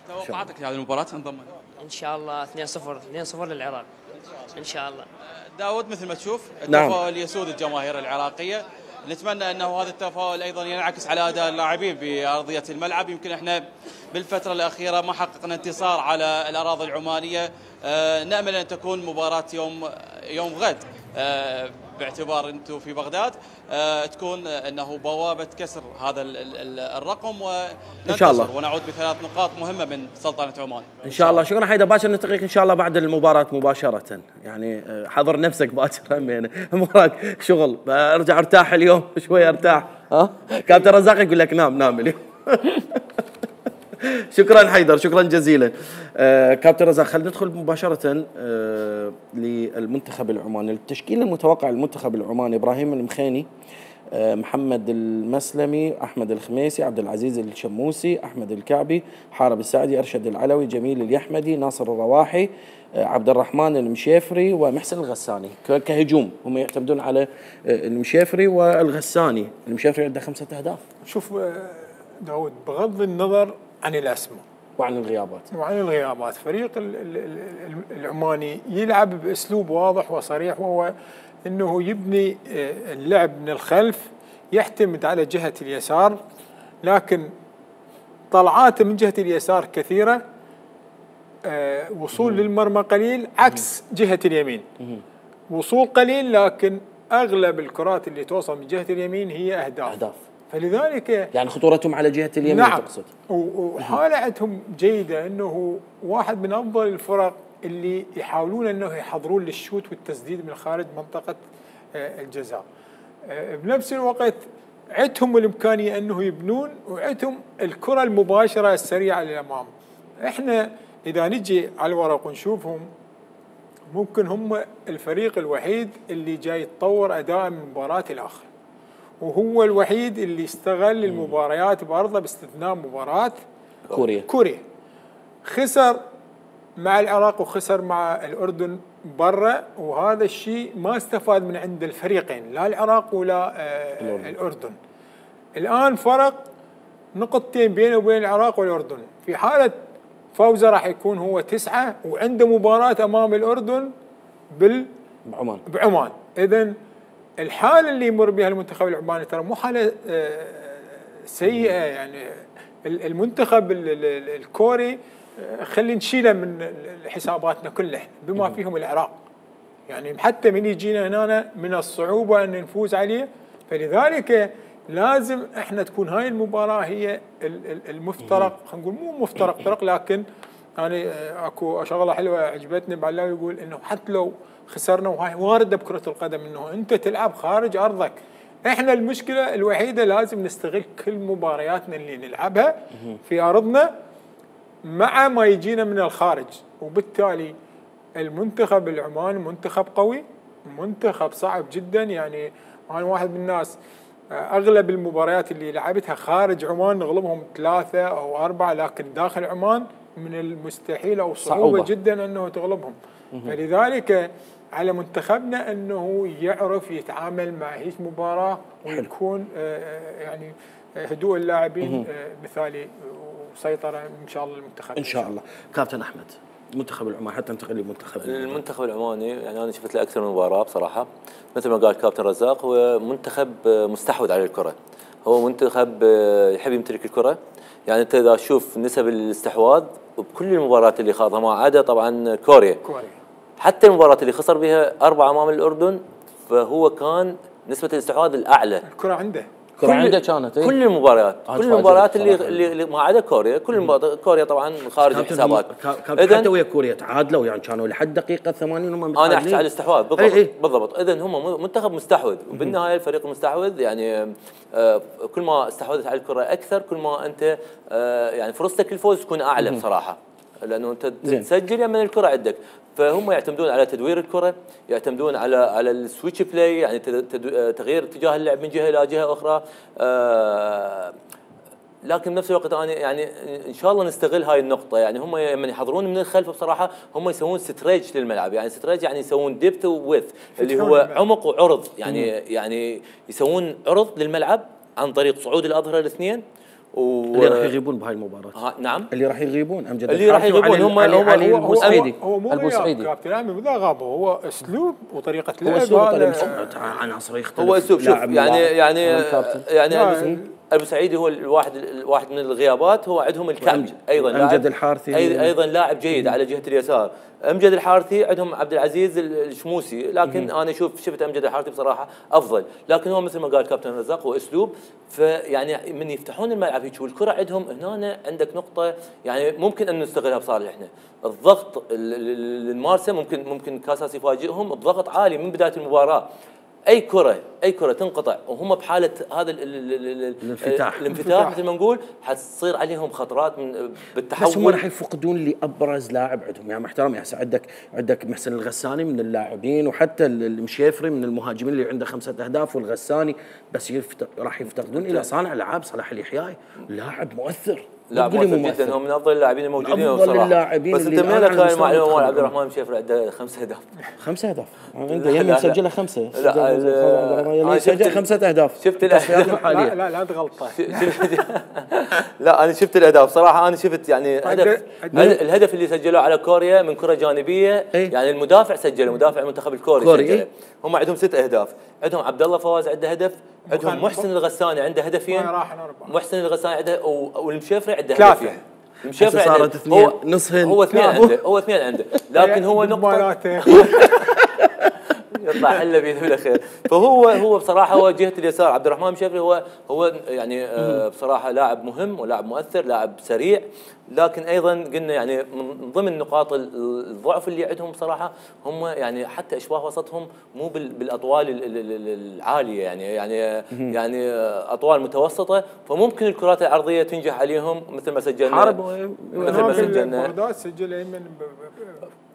Speaker 8: توقعاتك لهذه المباراه انضم؟
Speaker 12: ان شاء الله 2-0 للعراق ان شاء الله.
Speaker 8: داود مثل ما تشوف
Speaker 1: نعم.
Speaker 8: التفاؤل يسود الجماهير العراقيه، نتمنى انه هذا التفاؤل ايضا ينعكس على اداء اللاعبين بارضيه الملعب. يمكن احنا بالفتره الاخيره ما حققنا انتصار على الاراضي العمانيه، نامل ان تكون مباراه يوم غد باعتبار انتم في بغداد تكون انه بوابه كسر هذا الرقم وننتصر ونعود ب3 نقاط مهمه من سلطنه عمان
Speaker 1: ان شاء الله. شكرا حيدر، باكر نلتقيك ان شاء الله بعد المباراه مباشره، يعني حضر نفسك باكر وراك شغل، ارجع ارتاح اليوم شوي ارتاح. ها كابتن رزاق يقول لك نام اليوم. شكرا حيدر، شكرا جزيلا. كابتن رزاق، خلينا ندخل مباشرة للمنتخب العماني. التشكيل المتوقع للمنتخب العماني: ابراهيم المخيني، محمد المسلمي، احمد الخميسي، عبد العزيز الشموسي، احمد الكعبي، حارب السعدي، ارشد العلوي، جميل اليحمدي، ناصر الرواحي، عبد الرحمن المشيفري ومحسن الغساني. كهجوم هم يعتمدون على المشيفري والغساني. المشيفري عنده 5 أهداف.
Speaker 6: شوف داود، بغض النظر عن الاسماء
Speaker 1: وعن الغيابات
Speaker 6: فريق العماني يلعب باسلوب واضح وصريح، وهو انه يبني اللعب من الخلف، يعتمد على جهه اليسار، لكن طلعاته من جهه اليسار كثيره، وصول للمرمى قليل، عكس جهه اليمين وصول قليل، لكن اغلب الكرات اللي توصل من جهه اليمين هي اهداف. فلذلك
Speaker 1: يعني خطورتهم على جهه اليمين.
Speaker 6: نعم.
Speaker 1: تقصد؟
Speaker 6: وحاله عندهم جيده، انه واحد من افضل الفرق اللي يحاولون انه يحضرون للشوت والتسديد من خارج منطقه الجزاء. بنفس الوقت عندهم الامكانيه انه يبنون، وعندهم الكره المباشره السريعه للامام. احنا اذا نجي على الورق ونشوفهم، ممكن هم الفريق الوحيد اللي جاي يتطور اداء من مباراه لاخر، وهو الوحيد اللي استغل المباريات بارضه باستثناء مباراه كوريا. خسر مع العراق وخسر مع الاردن برا، وهذا الشيء ما استفاد من عند الفريقين، لا العراق ولا الأردن. الآن فرق نقطتين بينه وبين العراق والأردن. في حالة فوزه راح يكون هو 9، وعنده مباراة أمام الأردن بعمان. إذن الحالة اللي يمر بها المنتخب العماني ترى مو حالة سيئة. يعني المنتخب الكوري خلي نشيله من حساباتنا كلها، بما فيهم العراق. يعني حتى من يجينا هنا من الصعوبة أن نفوز عليه، فلذلك لازم احنا تكون هاي المباراة هي المفترق، خلينا نقول مو مفترق طرق، لكن يعني اكو شغلة حلوة عجبتني بعلاوي، يقول انه حتى لو خسرنا، وهاي واردة بكرة القدم، انه انت تلعب خارج ارضك. احنا المشكلة الوحيدة لازم نستغل كل مبارياتنا اللي نلعبها في ارضنا مع ما يجينا من الخارج. وبالتالي المنتخب العماني منتخب قوي، منتخب صعب جدا. يعني انا واحد من الناس اغلب المباريات اللي لعبتها خارج عمان نغلبهم 3 أو 4، لكن داخل عمان من المستحيل او صعوبة جدا انه تغلبهم. فلذلك على منتخبنا انه يعرف يتعامل مع هيك مباراه ويكون يعني هدوء اللاعبين مثالي وسيطره ان شاء الله المنتخب
Speaker 1: ان شاء الله. كابتن احمد، المنتخب العماني حتى ننتقل للمنتخب
Speaker 7: المنتخب العماني، يعني انا شفت له اكثر من مباراه بصراحه. مثل ما قال كابتن رزاق، هو منتخب مستحوذ على الكره، هو منتخب يحب يمتلك الكره. يعني انت اذا تشوف نسب الاستحواذ بكل المباريات اللي خاضها ما عدا طبعا كوريا، حتى المباراه اللي خسر بها 4 امام الاردن، فهو كان نسبه الاستحواذ الاعلى.
Speaker 6: الكره عنده
Speaker 1: كانت
Speaker 7: كل المباريات اللي ما عدا كوريا، كوريا طبعا خارج الحسابات.
Speaker 1: حتى ويا كوريا تعادلوا، يعني كانوا لحد دقيقه 80 هم
Speaker 7: انا احكي على الاستحواذ بالضبط. اذا هم منتخب مستحوذ، وبالنهايه الفريق المستحوذ يعني كل ما استحوذت على الكره اكثر، كل ما انت يعني فرصتك للفوز تكون اعلى بصراحه، لانه انت تسجل من الكره عندك. فهم يعتمدون على تدوير الكره، يعتمدون على السويتش بلاي، يعني تغيير اتجاه اللعب من جهه الى جهه اخرى. لكن بنفس الوقت انا يعني ان شاء الله نستغل هاي النقطه. يعني هم لما يحضرون من الخلف بصراحه هم يسوون ستريج للملعب، يعني ستريج يعني يسوون ديبث وويث اللي هو عمق وعرض، يعني يسوون عرض للملعب عن طريق صعود الاظهره الاثنين.
Speaker 1: اللي راح يغيبون بهاي المباراه.
Speaker 7: نعم،
Speaker 1: اللي راح يغيبون امجد
Speaker 7: اللي راح يغيبون هم
Speaker 1: البوسعيدي.
Speaker 6: هو البوسعيدي كابتن عامر لا غابه، هو اسلوب وطريقه لعب.
Speaker 1: عناصر يختلف.
Speaker 7: هو اسلوب، شوف يعني البوسعيدي هو الواحد من الغيابات، هو عندهم الكامل ايضا
Speaker 1: امجد الحارثي
Speaker 7: ايضا لاعب جيد على جهه اليسار. امجد الحارثي عندهم عبد العزيز الشموسي، لكن انا شفت امجد الحارثي بصراحه افضل. لكن هو مثل ما قال كابتن رزاق هو اسلوب. فيعني من يفتحون الملعب هيك والكره عندهم هنا عندك نقطه يعني ممكن ان نستغلها بصالحنا. الضغط المارسه ممكن كاساس يفاجئهم، الضغط عالي من بدايه المباراه. اي كره تنقطع وهم بحاله هذا الانفتاح مثل ما نقول، حتصير عليهم خطرات بالتحول.
Speaker 1: بس هم راح يفقدون لابرز لاعب عندهم، يعني محترم. يعني عندك محسن الغساني من اللاعبين، وحتى المشيفري من المهاجمين اللي عنده 5 أهداف، والغساني بس راح يفتقدون الى صانع العاب صلاح اليحيى، لاعب مؤثر.
Speaker 7: لاعب مؤثر جدا، هو من افضل اللاعبين الموجودين
Speaker 1: افضل اللاعبين.
Speaker 7: بس انت من لك هاي المعلومه مال عبد الرحمن المشيفري عنده 5 أهداف.
Speaker 1: 5 أهداف عنده يمين مسجله 5.
Speaker 7: لا
Speaker 1: سجل 5 أهداف.
Speaker 7: شفت الاهداف
Speaker 6: لا تغلطه.
Speaker 7: لا انا شفت الاهداف صراحه. انا شفت يعني الهدف اللي سجلوه على كوريا من كره جانبيه، يعني المدافع سجله، مدافع المنتخب الكوري سجله. هم عندهم 6 أهداف. عندهم عبد الله فواز عنده هدف، عندهم محسن الغساني عنده هدفين، محسن الغساني عنده، والمشيفري عنده هدفين. المشيفري
Speaker 1: صارت 2 نصهن،
Speaker 7: هو 2 عنده لكن هو نقطه يطلع حله باذن الله خير. فهو بصراحه هو جهه اليسار عبد الرحمن المشيفري هو يعني بصراحه لاعب مهم ولاعب مؤثر، لاعب سريع. لكن ايضا قلنا يعني من ضمن نقاط الضعف اللي عندهم بصراحه هم يعني حتى اشباه وسطهم مو بالاطوال العاليه، يعني اطوال متوسطه. فممكن الكرات العرضيه تنجح عليهم مثل ما سجلنا.
Speaker 6: مثل ما سجلنا سجل ايمن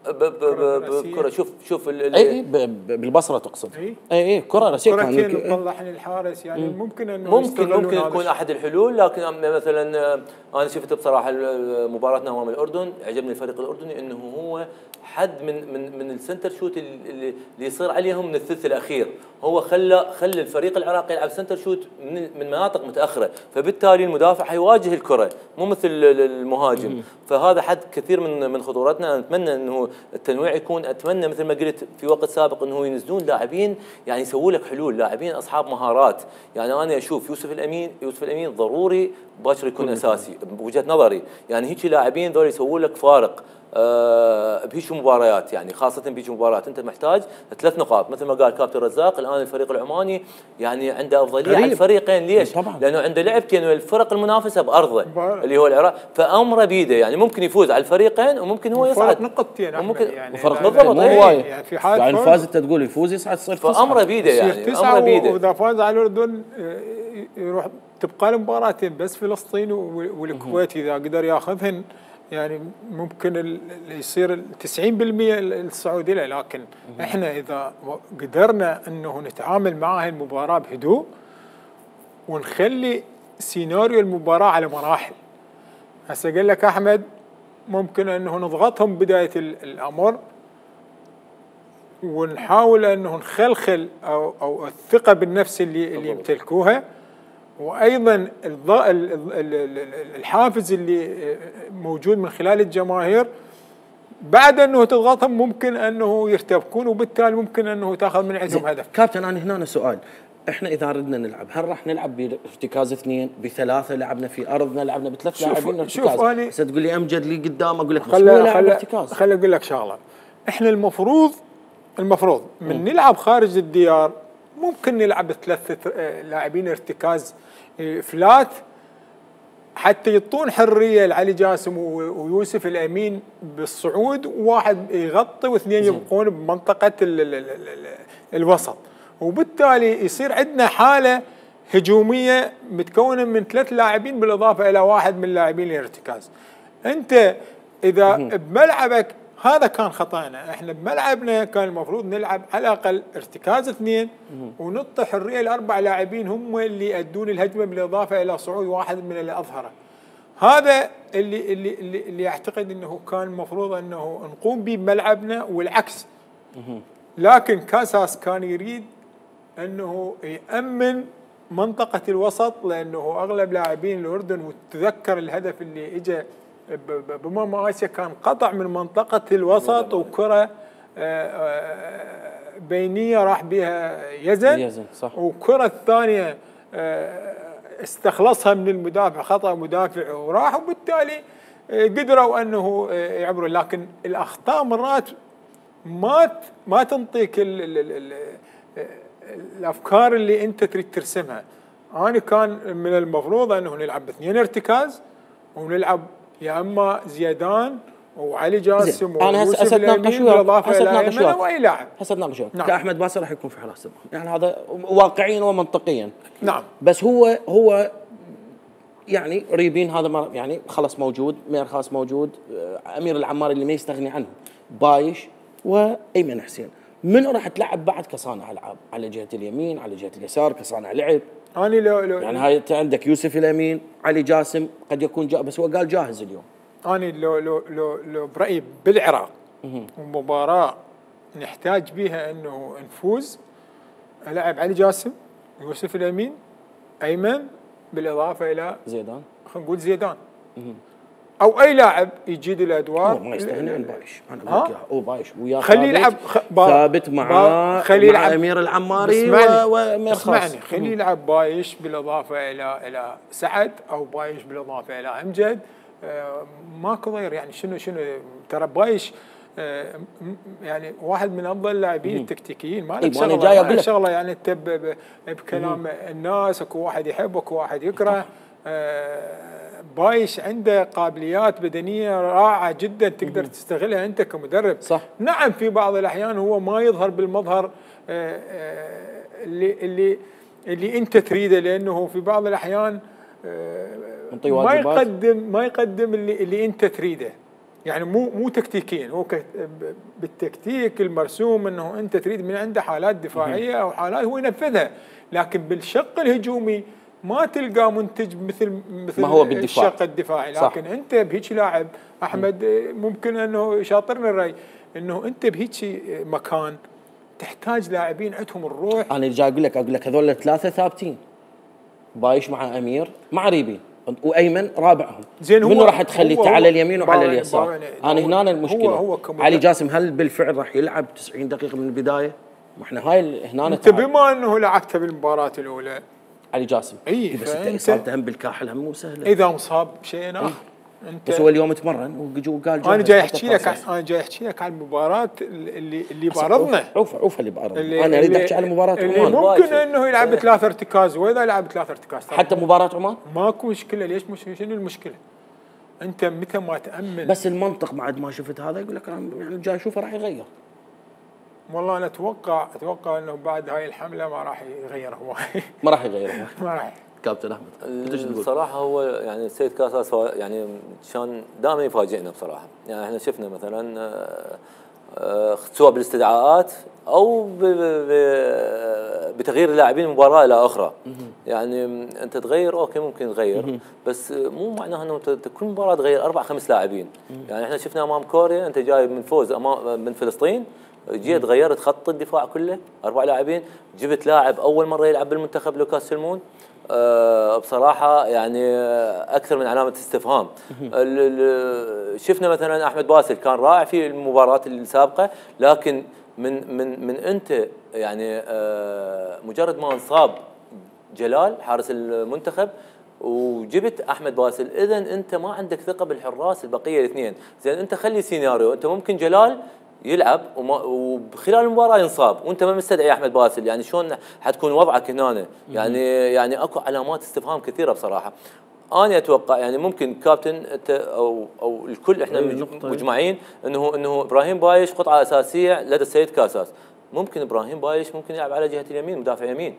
Speaker 7: بكره. شوف
Speaker 1: اي بالبصره تقصد. اي كره راسيه
Speaker 6: كان يطلع للحارس، يعني ممكن
Speaker 7: يكون احد الحلول. لكن مثلا انا شفت بصراحه مباراتنا امام الاردن، عجبني الفريق الاردني انه هو حد من السنتر شوت اللي يصير عليهم من الثلث الاخير. هو خلى الفريق العراقي يلعب سنتر شوت من مناطق متاخره، فبالتالي المدافع حيواجه الكره مو مثل المهاجم. فهذا حد كثير من خطورتنا. نتمنى انه التنويع يكون، اتمنى مثل ما قلت في وقت سابق انه ينزلون لاعبين يعني يسووا لك حلول، لاعبين اصحاب مهارات. يعني انا اشوف يوسف الامين ضروري باكر يكون اساسي بوجهه نظري. يعني هيك لاعبين ذول يسووا لك فارق بهيك مباريات، يعني خاصه بهيك مباريات انت محتاج 3 نقاط. مثل ما قال كابتن رزاق، الان الفريق العماني يعني عنده افضليه على الفريقين. ليش؟ طبعاً. لانه عنده لعبتين والفرق المنافسه بارضه اللي هو العراق، فامره بيده. يعني ممكن يفوز على الفريقين وممكن هو يصعد.
Speaker 6: نقطتين
Speaker 7: وممكن
Speaker 6: يعني
Speaker 1: فرق بالضبط مو هوايه.
Speaker 6: يعني في حال
Speaker 1: يعني فاز انت تقول يفوز يصعد تصير 9.
Speaker 7: فامره بيده، يعني امره بيده.
Speaker 6: واذا فاز على الاردن يروح تبقى المباراتين بس فلسطين والكويت اذا قدر ياخذهن، يعني ممكن اللي يصير 90% الصعود له. لكن احنا اذا قدرنا انه نتعامل مع هاي المباراه بهدوء ونخلي سيناريو المباراه على مراحل. هسه قال لك احمد ممكن انه نضغطهم بدايه الامر ونحاول انه نخلخل او الثقه بالنفس اللي يمتلكوها، وايضا الحافز اللي موجود من خلال الجماهير بعد انه تضغطهم ممكن انه يرتبكون، وبالتالي ممكن انه تاخذ من عندهم هدف.
Speaker 1: كابتن انا هنا سؤال، احنا اذا ردنا نلعب هل راح نلعب بارتكاز 2 ب3 لعبنا في ارضنا لعبنا ب3 لاعبين ارتكاز؟
Speaker 6: شوف انا
Speaker 1: هسه تقول لي امجد لي قدام اقول لك بس هو لاعب ارتكاز.
Speaker 6: خلي اقول لك شغله، احنا المفروض من نلعب خارج الديار ممكن نلعب ب3 لاعبين ارتكاز فلات حتى يعطون حريه لعلي جاسم ويوسف الامين بالصعود، وواحد يغطي واثنين يبقون بمنطقه الوسط، وبالتالي يصير عندنا حاله هجوميه متكونه من 3 لاعبين بالاضافه الى واحد من لاعبين الارتكاز. انت اذا بملعبك هذا كان خطأنا، احنا بملعبنا كان المفروض نلعب على الاقل ارتكاز 2 ونعطي حريه ل4 لاعبين هم اللي يؤدون الهجمه بالاضافه الى صعود واحد من اللي اظهره. هذا اللي اعتقد انه كان المفروض انه نقوم به بملعبنا والعكس. لكن كاساس كان يريد انه يأمن منطقه الوسط، لانه اغلب لاعبين الاردن، وتذكر الهدف اللي اجى بمماسيا كان قطع من منطقة الوسط وكرة بينية راح بها يزن صح. وكرة الثانية استخلصها من المدافع، خطأ مدافع وراح، وبالتالي قدروا أنه يعبروا. لكن الأخطاء مرات ما تنطيك الأفكار اللي أنت تريد ترسمها. أنا كان من المفروض أنه نلعب ب2 ارتكاز ونلعب يا اما زيدان وعلي جاسم ويوسف الامين بالاضافه الى ايمن واي لاعب.
Speaker 1: هسه نناقش نعم. كاحمد باسل راح يكون في حراسه المرمى، يعني هذا واقعيا ومنطقيا.
Speaker 6: نعم.
Speaker 1: بس هو يعني ريبين هذا يعني خلص موجود، ميرخاس موجود، امير العماري اللي ما يستغني عنه، بايش وايمن حسين. منو راح تلعب بعد كصانع العاب على جهه اليمين على جهه اليسار كصانع لعب؟
Speaker 6: أنا لو
Speaker 1: يعني هاي انت عندك يوسف الامين، علي جاسم قد يكون بس هو قال جاهز اليوم.
Speaker 6: أنا لو برأيي بالعراق ومباراة نحتاج بها انه نفوز، العب علي جاسم، يوسف الامين، ايمن، بالاضافه الى
Speaker 1: زيدان،
Speaker 6: خلينا نقول زيدان او اي لاعب يجيد الادوار.
Speaker 1: هو ما يستغني عن بايش، انا اقول لك هو بايش ويا
Speaker 6: خليه يلعب
Speaker 1: ثابت مع امير العماري وميرخاص.
Speaker 6: اسمعني، خليه يلعب بايش بالاضافه الى سعد، او بايش بالاضافه الى امجد. ماكو ضير يعني. شنو ترى بايش يعني واحد من افضل اللاعبين التكتيكيين. ما له شغله يعني انت بكلام الناس اكو واحد يحب اكو واحد يكره. بايش عنده قابليات بدنيه رائعه جدا تقدر تستغلها انت كمدرب.
Speaker 1: صح.
Speaker 6: نعم في بعض الاحيان هو ما يظهر بالمظهر اللي انت تريده، لانه في بعض الاحيان ما يقدم اللي انت تريده. يعني مو تكتيكيا، هو بالتكتيك المرسوم انه انت تريد من عنده حالات دفاعيه او حالات هو ينفذها، لكن بالشق الهجومي ما تلقى منتج مثل
Speaker 1: ما هو بالدفاع.
Speaker 6: الشق الدفاعي. لكن انت بهيك لاعب احمد ممكن انه يشاطرني الراي انه انت بهيك مكان تحتاج لاعبين عندهم الروح.
Speaker 1: انا جاي اقول لك هذول الثلاثه ثابتين، بايش مع امير مع ريبين وايمن رابعهم.
Speaker 6: زين
Speaker 1: منو راح تخلي على اليمين وعلى اليسار؟ انا هنا المشكله.
Speaker 6: هو
Speaker 1: علي جاسم هل بالفعل راح يلعب 90 دقيقه من البدايه؟ ما احنا هاي هنا
Speaker 6: انت بما انه لعبته بالمباراه الاولى
Speaker 1: علي جاسم
Speaker 6: اي
Speaker 1: بس انت اصابته هم بالكاحل هم مو سهله.
Speaker 6: اذا مصاب بشيء اخر
Speaker 1: انت بس هو اليوم تمرن وقال
Speaker 6: انا جاي احكي لك عن المباراه اللي بارضنا.
Speaker 1: عوف اللي بارضنا. انا اريد احكي عن مباراه عمان.
Speaker 6: ممكن انه يلعب 3 ارتكاز، واذا لعب 3 ارتكاز
Speaker 1: حتى مباراه عمان
Speaker 6: ماكو مشكله. ليش شنو المشكله؟ انت متى ما تامن.
Speaker 1: بس المنطق بعد ما شفت هذا يقول لك يعني جاي اشوفه راح يغير.
Speaker 6: والله انا اتوقع انه بعد هاي الحمله ما راح يغير هواي.
Speaker 1: ما راح يغير
Speaker 6: ما راح.
Speaker 1: كابتن احمد
Speaker 7: الصراحه هو يعني السيد كاساس يعني كان دائما يفاجئنا بصراحه. يعني احنا شفنا مثلا سواء بالاستدعاءات او بتغيير اللاعبين من مباراه الى اخرى. يعني انت تغير اوكي ممكن تغير، بس مو معناها انه كل مباراه تغير 4-5 لاعبين. يعني احنا شفنا امام كوريا انت جاي من فوز من فلسطين جيت غيرت خط الدفاع كله 4 لاعبين، جبت لاعب اول مره يلعب بالمنتخب لوكاس سلمون. بصراحه يعني اكثر من علامه استفهام. شفنا مثلا احمد باسل كان رائع في المباراه السابقه، لكن من انت يعني مجرد ما انصاب جلال حارس المنتخب وجبت احمد باسل، اذا انت ما عندك ثقه بالحراس البقيه الاثنين. زين انت خلي سيناريو، انت ممكن جلال يلعب وخلال المباراه ينصاب وانت ما مستدعي احمد باسل، يعني شلون حتكون وضعك هنا؟ يعني اكو علامات استفهام كثيره بصراحه. انا اتوقع يعني ممكن كابتن انت او الكل احنا مجمعين انه ابراهيم بايش قطعه اساسيه لدى السيد كاساس. ممكن ابراهيم بايش ممكن يلعب على جهه اليمين، مدافع يمين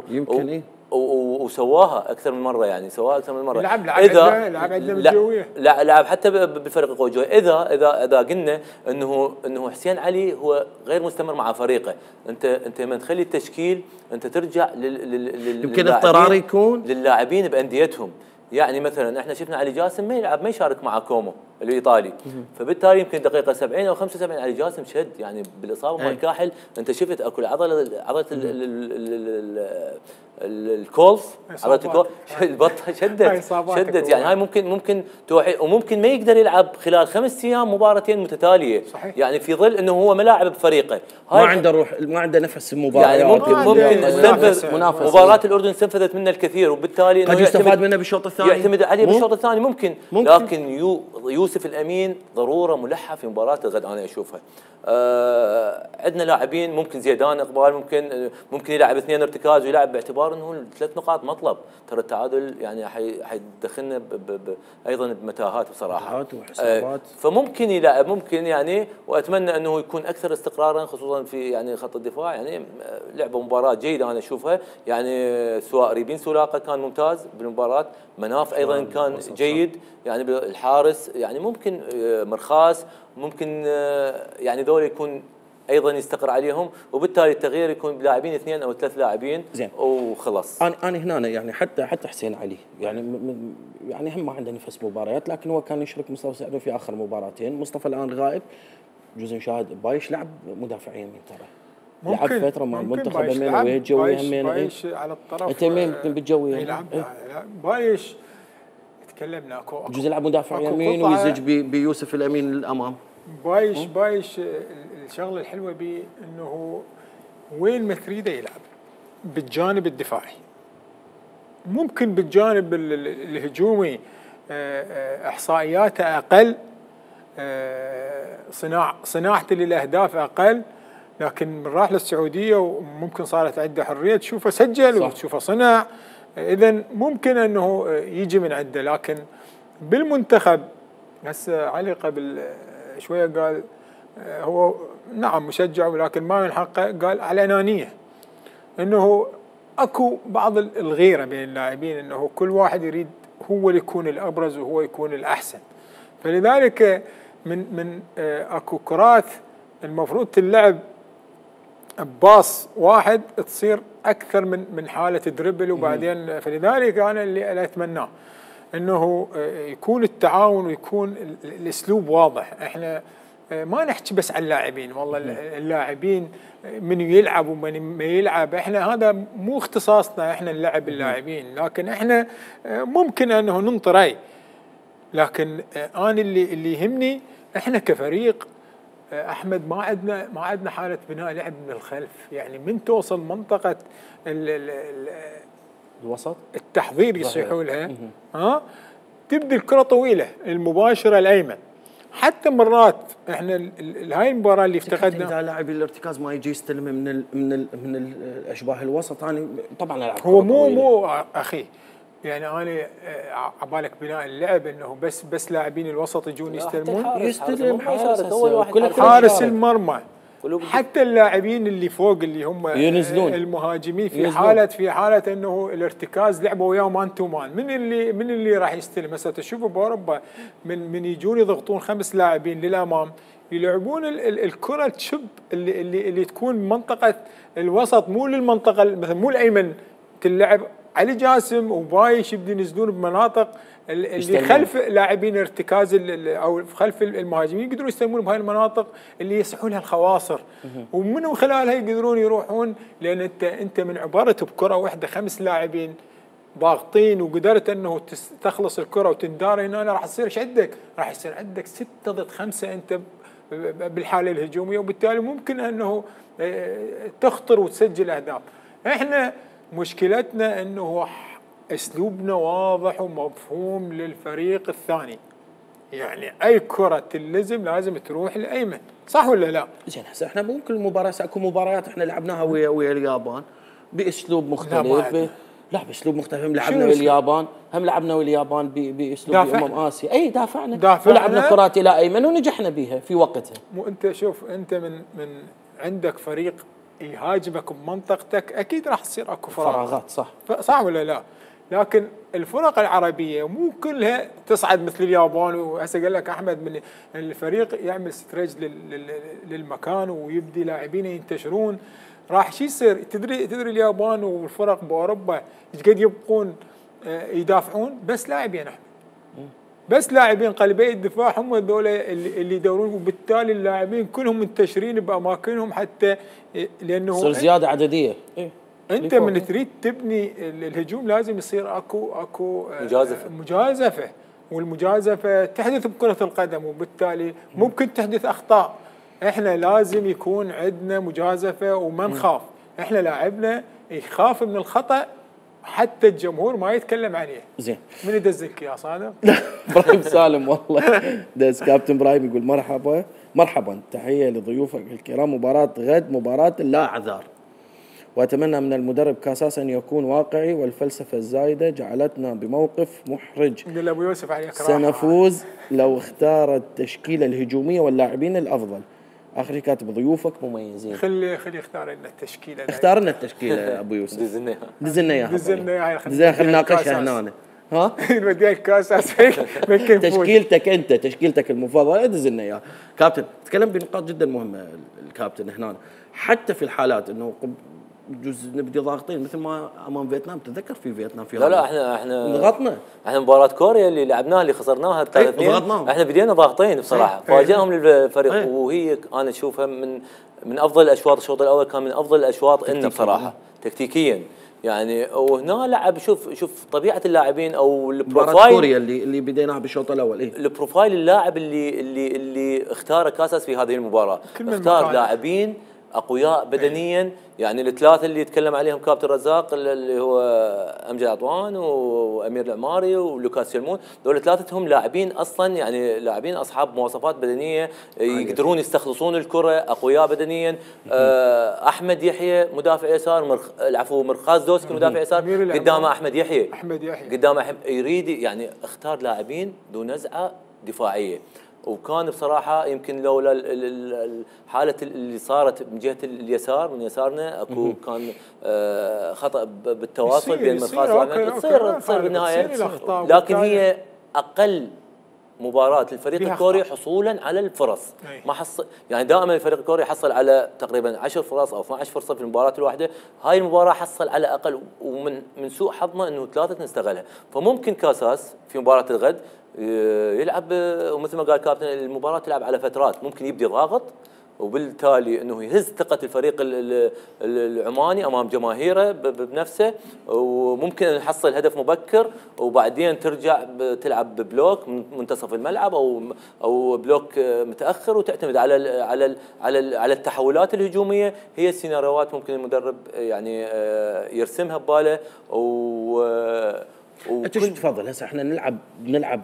Speaker 1: يمكن ايه
Speaker 7: وسواها اكثر من مره، يعني سواها اكثر من مره.
Speaker 6: لعب عندنا بالجويه،
Speaker 7: لعب حتى بالفريق القوي الجويه. اذا قلنا انه حسين علي هو غير مستمر مع فريقه، انت من تخلي التشكيل انت ترجع
Speaker 1: يمكن اضطرار يكون
Speaker 7: للاعبين بانديتهم. يعني مثلا احنا شفنا علي جاسم ما يشارك مع كومو الايطالي، فبالتالي يمكن دقيقه 70 او 75 علي جاسم شد يعني بالاصابه مال كاحل. انت شفت اكو عضله الكولز، عضله الكولز البطه شدت يعني هاي ممكن توحي، وممكن ما يقدر يلعب خلال 5 ايام مباراتين متتاليه. صحيح. يعني في ظل انه هو ملاعب بفريقه،
Speaker 1: ما عنده روح، ما عنده نفس المباريات،
Speaker 7: يعني ممكن استنفذ مباراه الاردن استنفذت منه الكثير، وبالتالي
Speaker 1: قد يستفاد منه بالشوط الثاني،
Speaker 7: يعتمد عليه بالشوط الثاني ممكن. لكن يوسف الامين ضروره ملحه في مباراه الغد انا اشوفها. عندنا لاعبين ممكن زيدان اقبال ممكن يلعب 2 ارتكاز ويلعب باعتبار انه 3 نقاط مطلب. ترى التعادل يعني حيدخلنا ايضا بمتاهات بصراحه
Speaker 1: وحسابات.
Speaker 7: فممكن يلعب، ممكن يعني، واتمنى انه يكون اكثر استقرارا خصوصا في يعني خط الدفاع. يعني لعبه مباراه جيده انا اشوفها، يعني سواء ريبين سولاقه كان ممتاز بالمباراه، مناف ايضا كان جيد، يعني الحارس يعني ممكن مرخاس ممكن يعني ذول يكون ايضا يستقر عليهم، وبالتالي التغيير يكون بلاعبين 2 أو 3 لاعبين
Speaker 1: زين
Speaker 7: وخلاص.
Speaker 1: انا هنا يعني حتى حسين علي يعني هم ما عنده نفس مباريات، لكن هو كان يشرك مصطفى سعدو في اخر مباراتين. مصطفى الان غائب، جزء نشاهد بايش لعب مدافع يمين، ترى لعب فتره مع المنتخب يمين ويجوي همين.
Speaker 6: بايش على الطرف
Speaker 1: انت يمين بالجوي
Speaker 6: يلعب بايش تكلمنا اكو
Speaker 1: جزء يلعب مدافع يمين ويزج بيوسف الامين للامام.
Speaker 6: بايش الشغله الحلوه به انه وين ما تريده يلعب بالجانب الدفاعي، ممكن بالجانب الهجومي احصائياته اقل، صناعته للاهداف اقل، لكن من راح للسعوديه وممكن صارت عنده حريه تشوفه سجل وتشوفه صنع، اذا ممكن انه يجي من عنده. لكن بالمنتخب هسه علي قبل شويه قال هو نعم مشجع ولكن ما من حقه، قال على انانيه، انه اكو بعض الغيره بين اللاعبين، انه كل واحد يريد هو اللي يكون الابرز وهو يكون الاحسن. فلذلك من اكو كرات المفروض تلعب باص واحد تصير اكثر من حاله دربل وبعدين. فلذلك انا اللي اتمناه انه يكون التعاون ويكون الاسلوب واضح. احنا ما نحكي بس عن اللاعبين، والله اللاعبين من يلعب ومن ما يلعب، احنا هذا مو اختصاصنا احنا نلعب اللاعبين، لكن احنا ممكن انه ننطري. لكن انا اللي يهمني احنا كفريق احمد ما عندنا حاله بناء لعب من الخلف، يعني من توصل منطقه
Speaker 1: الوسط
Speaker 6: التحضير يصيحوا لها تبدي الكره طويله المباشره الايمن. حتى مرات احنا هاي المباراه اللي افتقدنا
Speaker 1: اذا لاعب الارتكاز ما يجي يستلم من الاشباه الوسط، انا طبعا العب
Speaker 6: هو مو اخي، يعني انا عبالك بناء اللعب انه بس لاعبين الوسط يجون يستلمون،
Speaker 1: يستلم
Speaker 6: حارس المرمى، حتى اللاعبين اللي فوق اللي هم ينزلون المهاجمين في حاله انه الارتكاز لعبوا وياه مان تو مان، من اللي راح يستلم؟ هسه تشوفوا باوروبا من يجون يضغطون 5 لاعبين للامام يلعبون الكره تشب اللي تكون منطقه الوسط، مو للمنطقه مثلا مو الايمن تلعب. علي جاسم وبايش يبدو ينزلون بمناطق اللي خلف لاعبين ارتكاز او خلف المهاجمين يقدرون يستلمون بهاي المناطق اللي يصحوا لها الخواصر، ومن خلالها يقدرون يروحون، لان انت من عباره بكره واحده 5 لاعبين ضاغطين وقدرت انه تخلص الكره وتندار هنا، راح يصير ايش عندك؟ راح يصير عندك 6 ضد 5 انت بالحاله الهجوميه، وبالتالي ممكن انه تخطر وتسجل اهداف. احنا مشكلتنا انه اسلوبنا واضح ومفهوم للفريق الثاني، يعني اي كره تلزم لازم تروح لايمن، صح ولا لا؟
Speaker 1: زين هسه احنا مو كل مباراه، اكو مباريات احنا لعبناها ويا اليابان باسلوب مختلف. لا باسلوب مختلف، هم لعبنا ويا اليابان، هم لعبنا ويا اليابان باسلوب اسيا، اي دافعنا ولعبنا كرات الى ايمن ونجحنا بيها في وقتها.
Speaker 6: مو انت شوف، انت من عندك فريق يهاجمك بمنطقتك اكيد راح تصير اكو
Speaker 1: فراغات،
Speaker 6: صح ولا لا؟ لكن الفرق العربيه مو كلها تصعد مثل اليابان. وهسه قال لك احمد من الفريق يعمل ستريج للمكان ويبدي لاعبين ينتشرون، راح شو يصير؟ تدري اليابان والفرق باوروبا ايش قد يبقون يدافعون؟ بس لاعبين احمد، بس لاعبين قلبي الدفاع هم هذول اللي يدورون، وبالتالي اللاعبين كلهم منتشرين باماكنهم، حتى لانه
Speaker 1: تصير زياده عدديه.
Speaker 6: انت من تريد تبني الهجوم لازم يصير اكو مجازفه، والمجازفه تحدث بكره القدم، وبالتالي ممكن تحدث اخطاء. احنا لازم يكون عندنا مجازفه وما نخاف، احنا لاعبنا يخاف من الخطا حتى الجمهور ما يتكلم عليه.
Speaker 1: زين،
Speaker 6: من يدزك يا صادق؟
Speaker 1: ابراهيم سالم والله دز. كابتن ابراهيم يقول مرحبا، تحيه لضيوفك الكرام، مباراه غد مباراه لا اعذار، واتمنى من المدرب كاساس ان يكون واقعي، والفلسفه الزايده جعلتنا بموقف محرج.
Speaker 6: ابو يوسف عليك
Speaker 1: سنفوز لو اختار التشكيله الهجوميه واللاعبين الافضل. اخر كاتب ضيوفك مميزين.
Speaker 6: خلي يختار لنا التشكيله.
Speaker 1: اختار لنا التشكيله يا ابو يوسف.
Speaker 6: دزلنا
Speaker 1: اياها خلينا نناقشها هنا. ها؟
Speaker 6: نوديها الكاساس
Speaker 1: تشكيلتك المفضله دز لنا اياها. كابتن تكلم بنقاط جدا مهمه الكابتن هنا، حتى في الحالات انه بجوز نبدي ضاغطين مثل ما امام فيتنام. تتذكر في فيتنام في
Speaker 7: لا احنا
Speaker 1: ضغطنا.
Speaker 7: احنا مباراه كوريا اللي لعبناها اللي خسرناها 3-2 احنا بدينا ضاغطين بصراحه، فاجئهم الفريق. وهي انا اشوفها من افضل الاشواط. الشوط الاول كان من افضل الاشواط لنا بصراحه تكتيكيا يعني. وهنا لعب شوف طبيعه اللاعبين او
Speaker 1: البروفايل كوريا اللي بديناها بالشوط الاول.
Speaker 7: البروفايل اللاعب اللي اختاره كاساس في هذه المباراه، اختار لاعبين اقوياء بدنيا، يعني الثلاثه اللي يتكلم عليهم كابتن رزاق اللي هو امجد عطوان وامير العماري ولوكاس شلمون، دول ثلاثتهم لاعبين اصلا يعني لاعبين اصحاب مواصفات بدنيه يقدرون يستخلصون الكره، اقوياء بدنيا. احمد يحيى مدافع يسار، مرخاز دوسكي مدافع يسار، قدامه احمد يحيى قدامه يريد يعني اختار لاعبين ذو نزعه دفاعيه. وكان بصراحه يمكن لولا الحاله اللي صارت من جهه اليسار من يسارنا اكو كان خطا بالتواصل بين مرخاز واحمد، تصير بالنهايه. لكن هي اقل مباراه للفريق الكوري حصولا على الفرص. ما حصل يعني دائما الفريق الكوري يحصل على تقريبا 10 فرص او 12 فرصه في المباراه الواحده، هاي المباراه حصل على اقل، ومن سوء حظنا انه 3 نستغلها. فممكن كاساس في مباراه الغد يلعب ومثل ما قال كابتن المباراه تلعب على فترات، ممكن يبدي ضاغط وبالتالي انه يهز ثقه الفريق العماني امام جماهيره بنفسه، وممكن نحصل هدف مبكر وبعدين ترجع تلعب ببلوك من منتصف الملعب او بلوك متاخر، وتعتمد على التحولات الهجوميه. هي السيناريوهات ممكن المدرب يعني يرسمها بباله.
Speaker 1: انت شو تفضل هسه احنا نلعب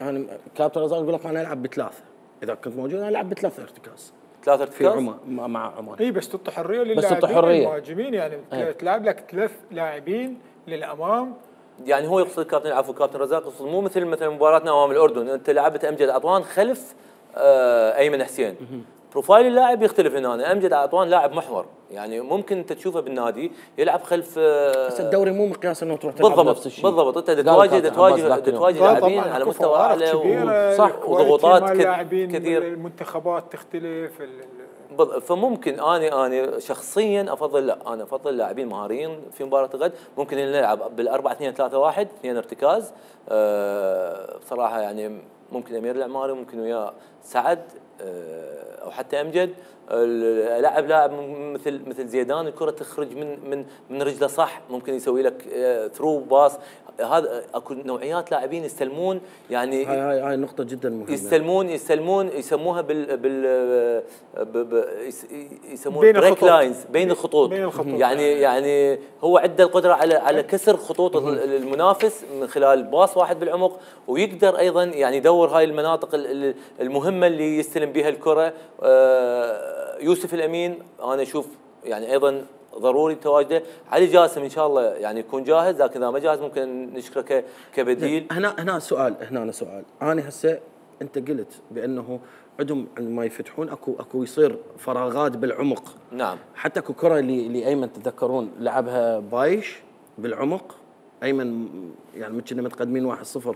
Speaker 1: انا كابتن رزاق يقول لك انا العب بثلاثه، اذا كنت موجود انا العب ب3 ارتكاز.
Speaker 7: 3 ارتكاز
Speaker 1: في مع عمان.
Speaker 6: اي بس تعطي حريه للاعبين المهاجمين، يعني تلعب لك 3 لاعبين للامام.
Speaker 7: يعني هو يقصد كابتن رزاق يقصد مو مثل مباراتنا امام الاردن، انت لعبت امجد عطوان خلف ايمن حسين. بروفايل اللاعب يختلف هنا. امجد عطوان لاعب محور، يعني ممكن انت تشوفه بالنادي يلعب خلف.
Speaker 1: بس الدوري مو مقياس انه تروح تلعب نفس الشيء.
Speaker 7: بالضبط انت تواجه لاعبين على مستوى اعلى
Speaker 6: صح،
Speaker 7: وضغوطات
Speaker 6: كثيره.
Speaker 7: كثير.
Speaker 6: المنتخبات تختلف،
Speaker 7: فممكن انا شخصيا افضل، لا انا افضل لاعبين مهاريين في مباراه الغد. ممكن نلعب بال4-2-3-1 2 ارتكاز. بصراحه يعني ممكن امير العماري، ممكن وياه سعد او حتى امجد. لاعب مثل زيدان، الكره تخرج من رجله صح، ممكن يسوي لك ثرو باص. هذا اكو نوعيات لاعبين يستلمون، يعني
Speaker 1: هاي نقطة جدا مهمة.
Speaker 7: يستلمون يسموها يسمون بريك لاينز، بين الخطوط. يعني هو عنده القدرة على كسر خطوط المنافس من خلال باص واحد بالعمق، ويقدر ايضا يعني يدور هاي المناطق المهمة اللي يستلم بها الكرة. يوسف الامين انا اشوف يعني ايضا ضروري تواجده. علي جاسم ان شاء الله يعني يكون جاهز، لكن اذا ما جاهز ممكن نشكره كبديل.
Speaker 1: هنا سؤال، انا هسه انت قلت بانه عندهم عندما يفتحون اكو يصير فراغات بالعمق.
Speaker 7: نعم.
Speaker 1: حتى اكو كره اللي ايمن تتذكرون لعبها بايش بالعمق، ايمن يعني كنا متقدمين 1-0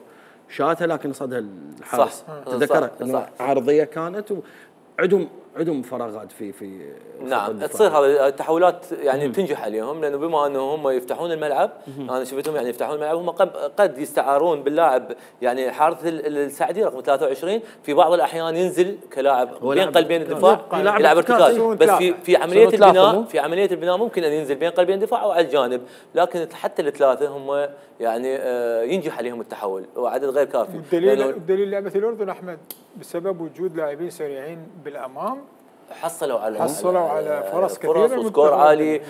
Speaker 1: شاتها لكن صدها الحارس. تذكرها انه عرضيه كانت، عندهم فراغات في
Speaker 7: نعم. تصير هذه التحولات يعني تنجح عليهم، لانه بما انه هم يفتحون الملعب. انا شفتهم يعني يفتحون الملعب، هم قد يستعارون باللاعب يعني حارس السعدي رقم 23 في بعض الاحيان ينزل كلاعب بين قلبين الدفاع يلعب ارتكاز. بس في عمليه البناء ممكن ان ينزل بين قلبين الدفاع او على الجانب، لكن حتى الثلاثه هم يعني ينجح عليهم التحول، وعدد غير كافي.
Speaker 6: الدليل لعبه الاردن احمد بسبب وجود لاعبين سريعين بالامام
Speaker 7: حصلوا
Speaker 6: على فرص كثيره
Speaker 7: وسكور عالي.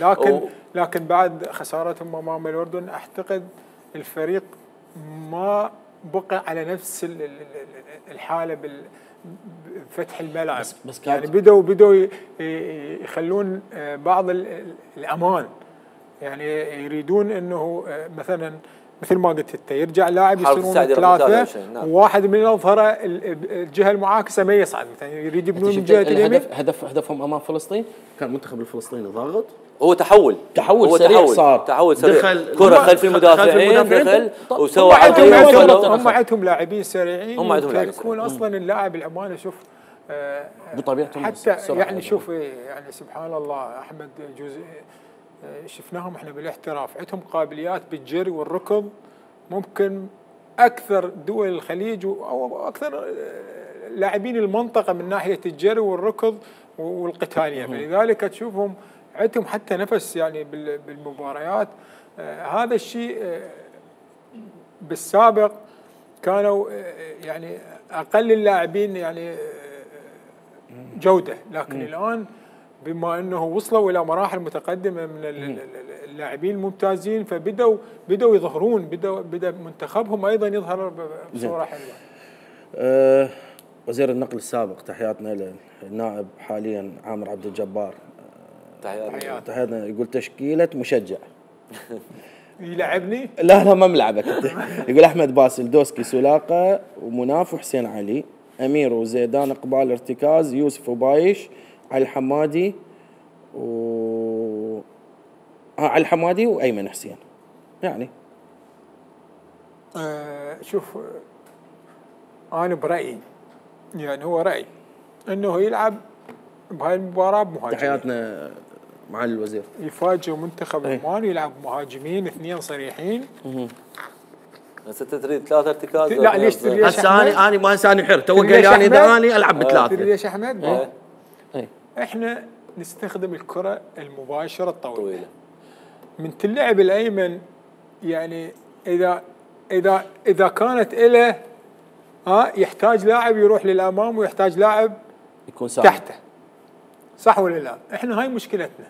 Speaker 6: لكن بعد خسارتهم امام الاردن اعتقد الفريق ما بقى على نفس الحاله بفتح الملعب.
Speaker 1: بس
Speaker 6: يعني بدوا يخلون بعض الامان، يعني يريدون انه مثلا مثل ما قلت انت يرجع لاعب يصيرون 3 وواحد من الاظهره الجهه المعاكسه ما يصعد، مثلا يريد يبنون من جهه اليمين.
Speaker 1: هدفهم امام فلسطين كان المنتخب الفلسطيني ضاغط،
Speaker 7: هو تحول
Speaker 1: سريع، صار
Speaker 7: تحول سريع، كره خلف المدافعين دخل وسوى
Speaker 6: هم عندهم لاعبين سريعين، يكون اصلا اللاعب الامانه شوف
Speaker 1: بطبيعتهم
Speaker 6: حتى يعني شوف يعني سبحان الله احمد جزء شفناهم احنا بالاحتراف، عندهم قابليات بالجري والركض ممكن اكثر دول الخليج او اكثر لاعبين المنطقه من ناحيه الجري والركض والقتاليه، فلذلك تشوفهم عندهم حتى نفس يعني بالمباريات. هذا الشيء بالسابق كانوا يعني اقل اللاعبين يعني جوده، لكن الان بما انه وصلوا الى مراحل متقدمه من اللاعبين الممتازين، فبدوا يظهرون، بدا منتخبهم ايضا يظهر بصوره حلوه.
Speaker 1: وزير النقل السابق، تحياتنا للنائب حاليا عامر عبد الجبار، تحياتنا. يقول تشكيله مشجع
Speaker 6: يلعبني؟
Speaker 1: لا ما ملعبك. يقول احمد باسل، دوسكي، سلاقه ومناف وحسين علي، امير وزيدان، اقبال، ارتكاز، يوسف وبايش، علي الحمادي علي الحمادي وايمن حسين. يعني
Speaker 6: شوف انا برايي، يعني هو رايي انه يلعب بهاي المباراه بمهاجمين.
Speaker 1: تحياتنا معالي الوزير.
Speaker 6: يفاجئ منتخب عمان يلعب مهاجمين 2 صريحين.
Speaker 7: هسه تريد 3 ارتكاز؟
Speaker 6: لا ليش تريد؟
Speaker 1: هسه انا ما هسه حر، تو قال لي انا العب ب3.
Speaker 6: تدري ليش احمد؟ احنا نستخدم الكره المباشره الطويله من تلعب الايمن، يعني اذا كانت له يحتاج لاعب يروح للامام ويحتاج لاعب
Speaker 1: يكون
Speaker 6: تحته، صح ولا لا؟ احنا هاي مشكلتنا،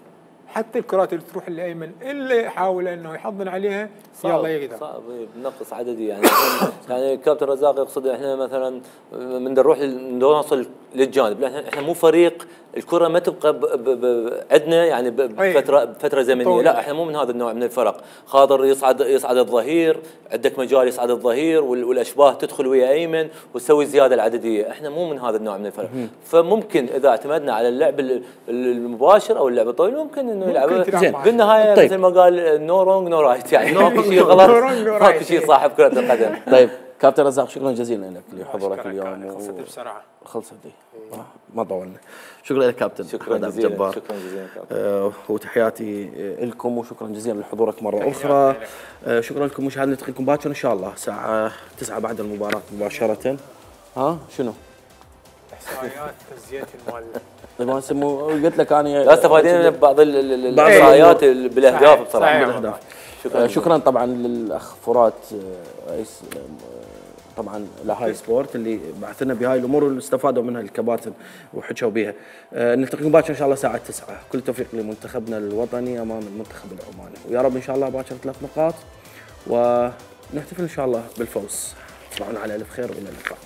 Speaker 6: حتى الكرات اللي تروح للايمن اللي يحاول انه يحضن عليها يلا يقدر.
Speaker 7: صعب بنقص عددي يعني. يعني الكابتن رزاق يقصد احنا مثلا من نروح نوصل للجانب، احنا مو فريق الكره ما تبقى عندنا يعني بفتره زمنيه، لا احنا مو من هذا النوع من الفرق. خاطر يصعد الظهير، عندك مجال يصعد الظهير والاشباه تدخل ويا ايمن وتسوي الزياده العدديه، احنا مو من هذا النوع من الفرق. فممكن اذا اعتمدنا على اللعب المباشر او اللعب الطويل ممكن انه يلعب بالنهايه. طيب. مثل ما قال نو رونج نو رايت، يعني ماكو شيء غلط، ماكو شيء صاحب كره القدم.
Speaker 1: طيب كابتن رزاق شكرا جزيلا لك لحضورك اليوم.
Speaker 6: خلصت بسرعه.
Speaker 1: خلصت ما طولنا. شكرا لك كابتن.
Speaker 7: شكرا جزيلا. شكرا جزيلا كابتن.
Speaker 1: وتحياتي لكم وشكرا جزيلا لحضورك مره اخرى. شكرا لكم مشاهدينا، نلتقيكم باكر ان شاء الله الساعه 9 بعد المباراه مباشره. شنو؟
Speaker 6: احصائيات تزيين المال
Speaker 1: ما يسموه، قلت لك انا
Speaker 7: لا استفادين من بعض الاحصائيات بالاهداف بصراحه.
Speaker 1: بالاهداف. شكرا طبعا للاخ فرات رئيس طبعا لهاي سبورت اللي بعث لنا بهاي الامور واللي استفادوا منها الكباتن وحكوا بها. نلتقيكم باكر ان شاء الله الساعه 9. كل التوفيق لمنتخبنا الوطني امام المنتخب العماني، ويا رب ان شاء الله باكر 3 نقاط ونحتفل ان شاء الله بالفوز. تصبحون على الف خير والى اللقاء.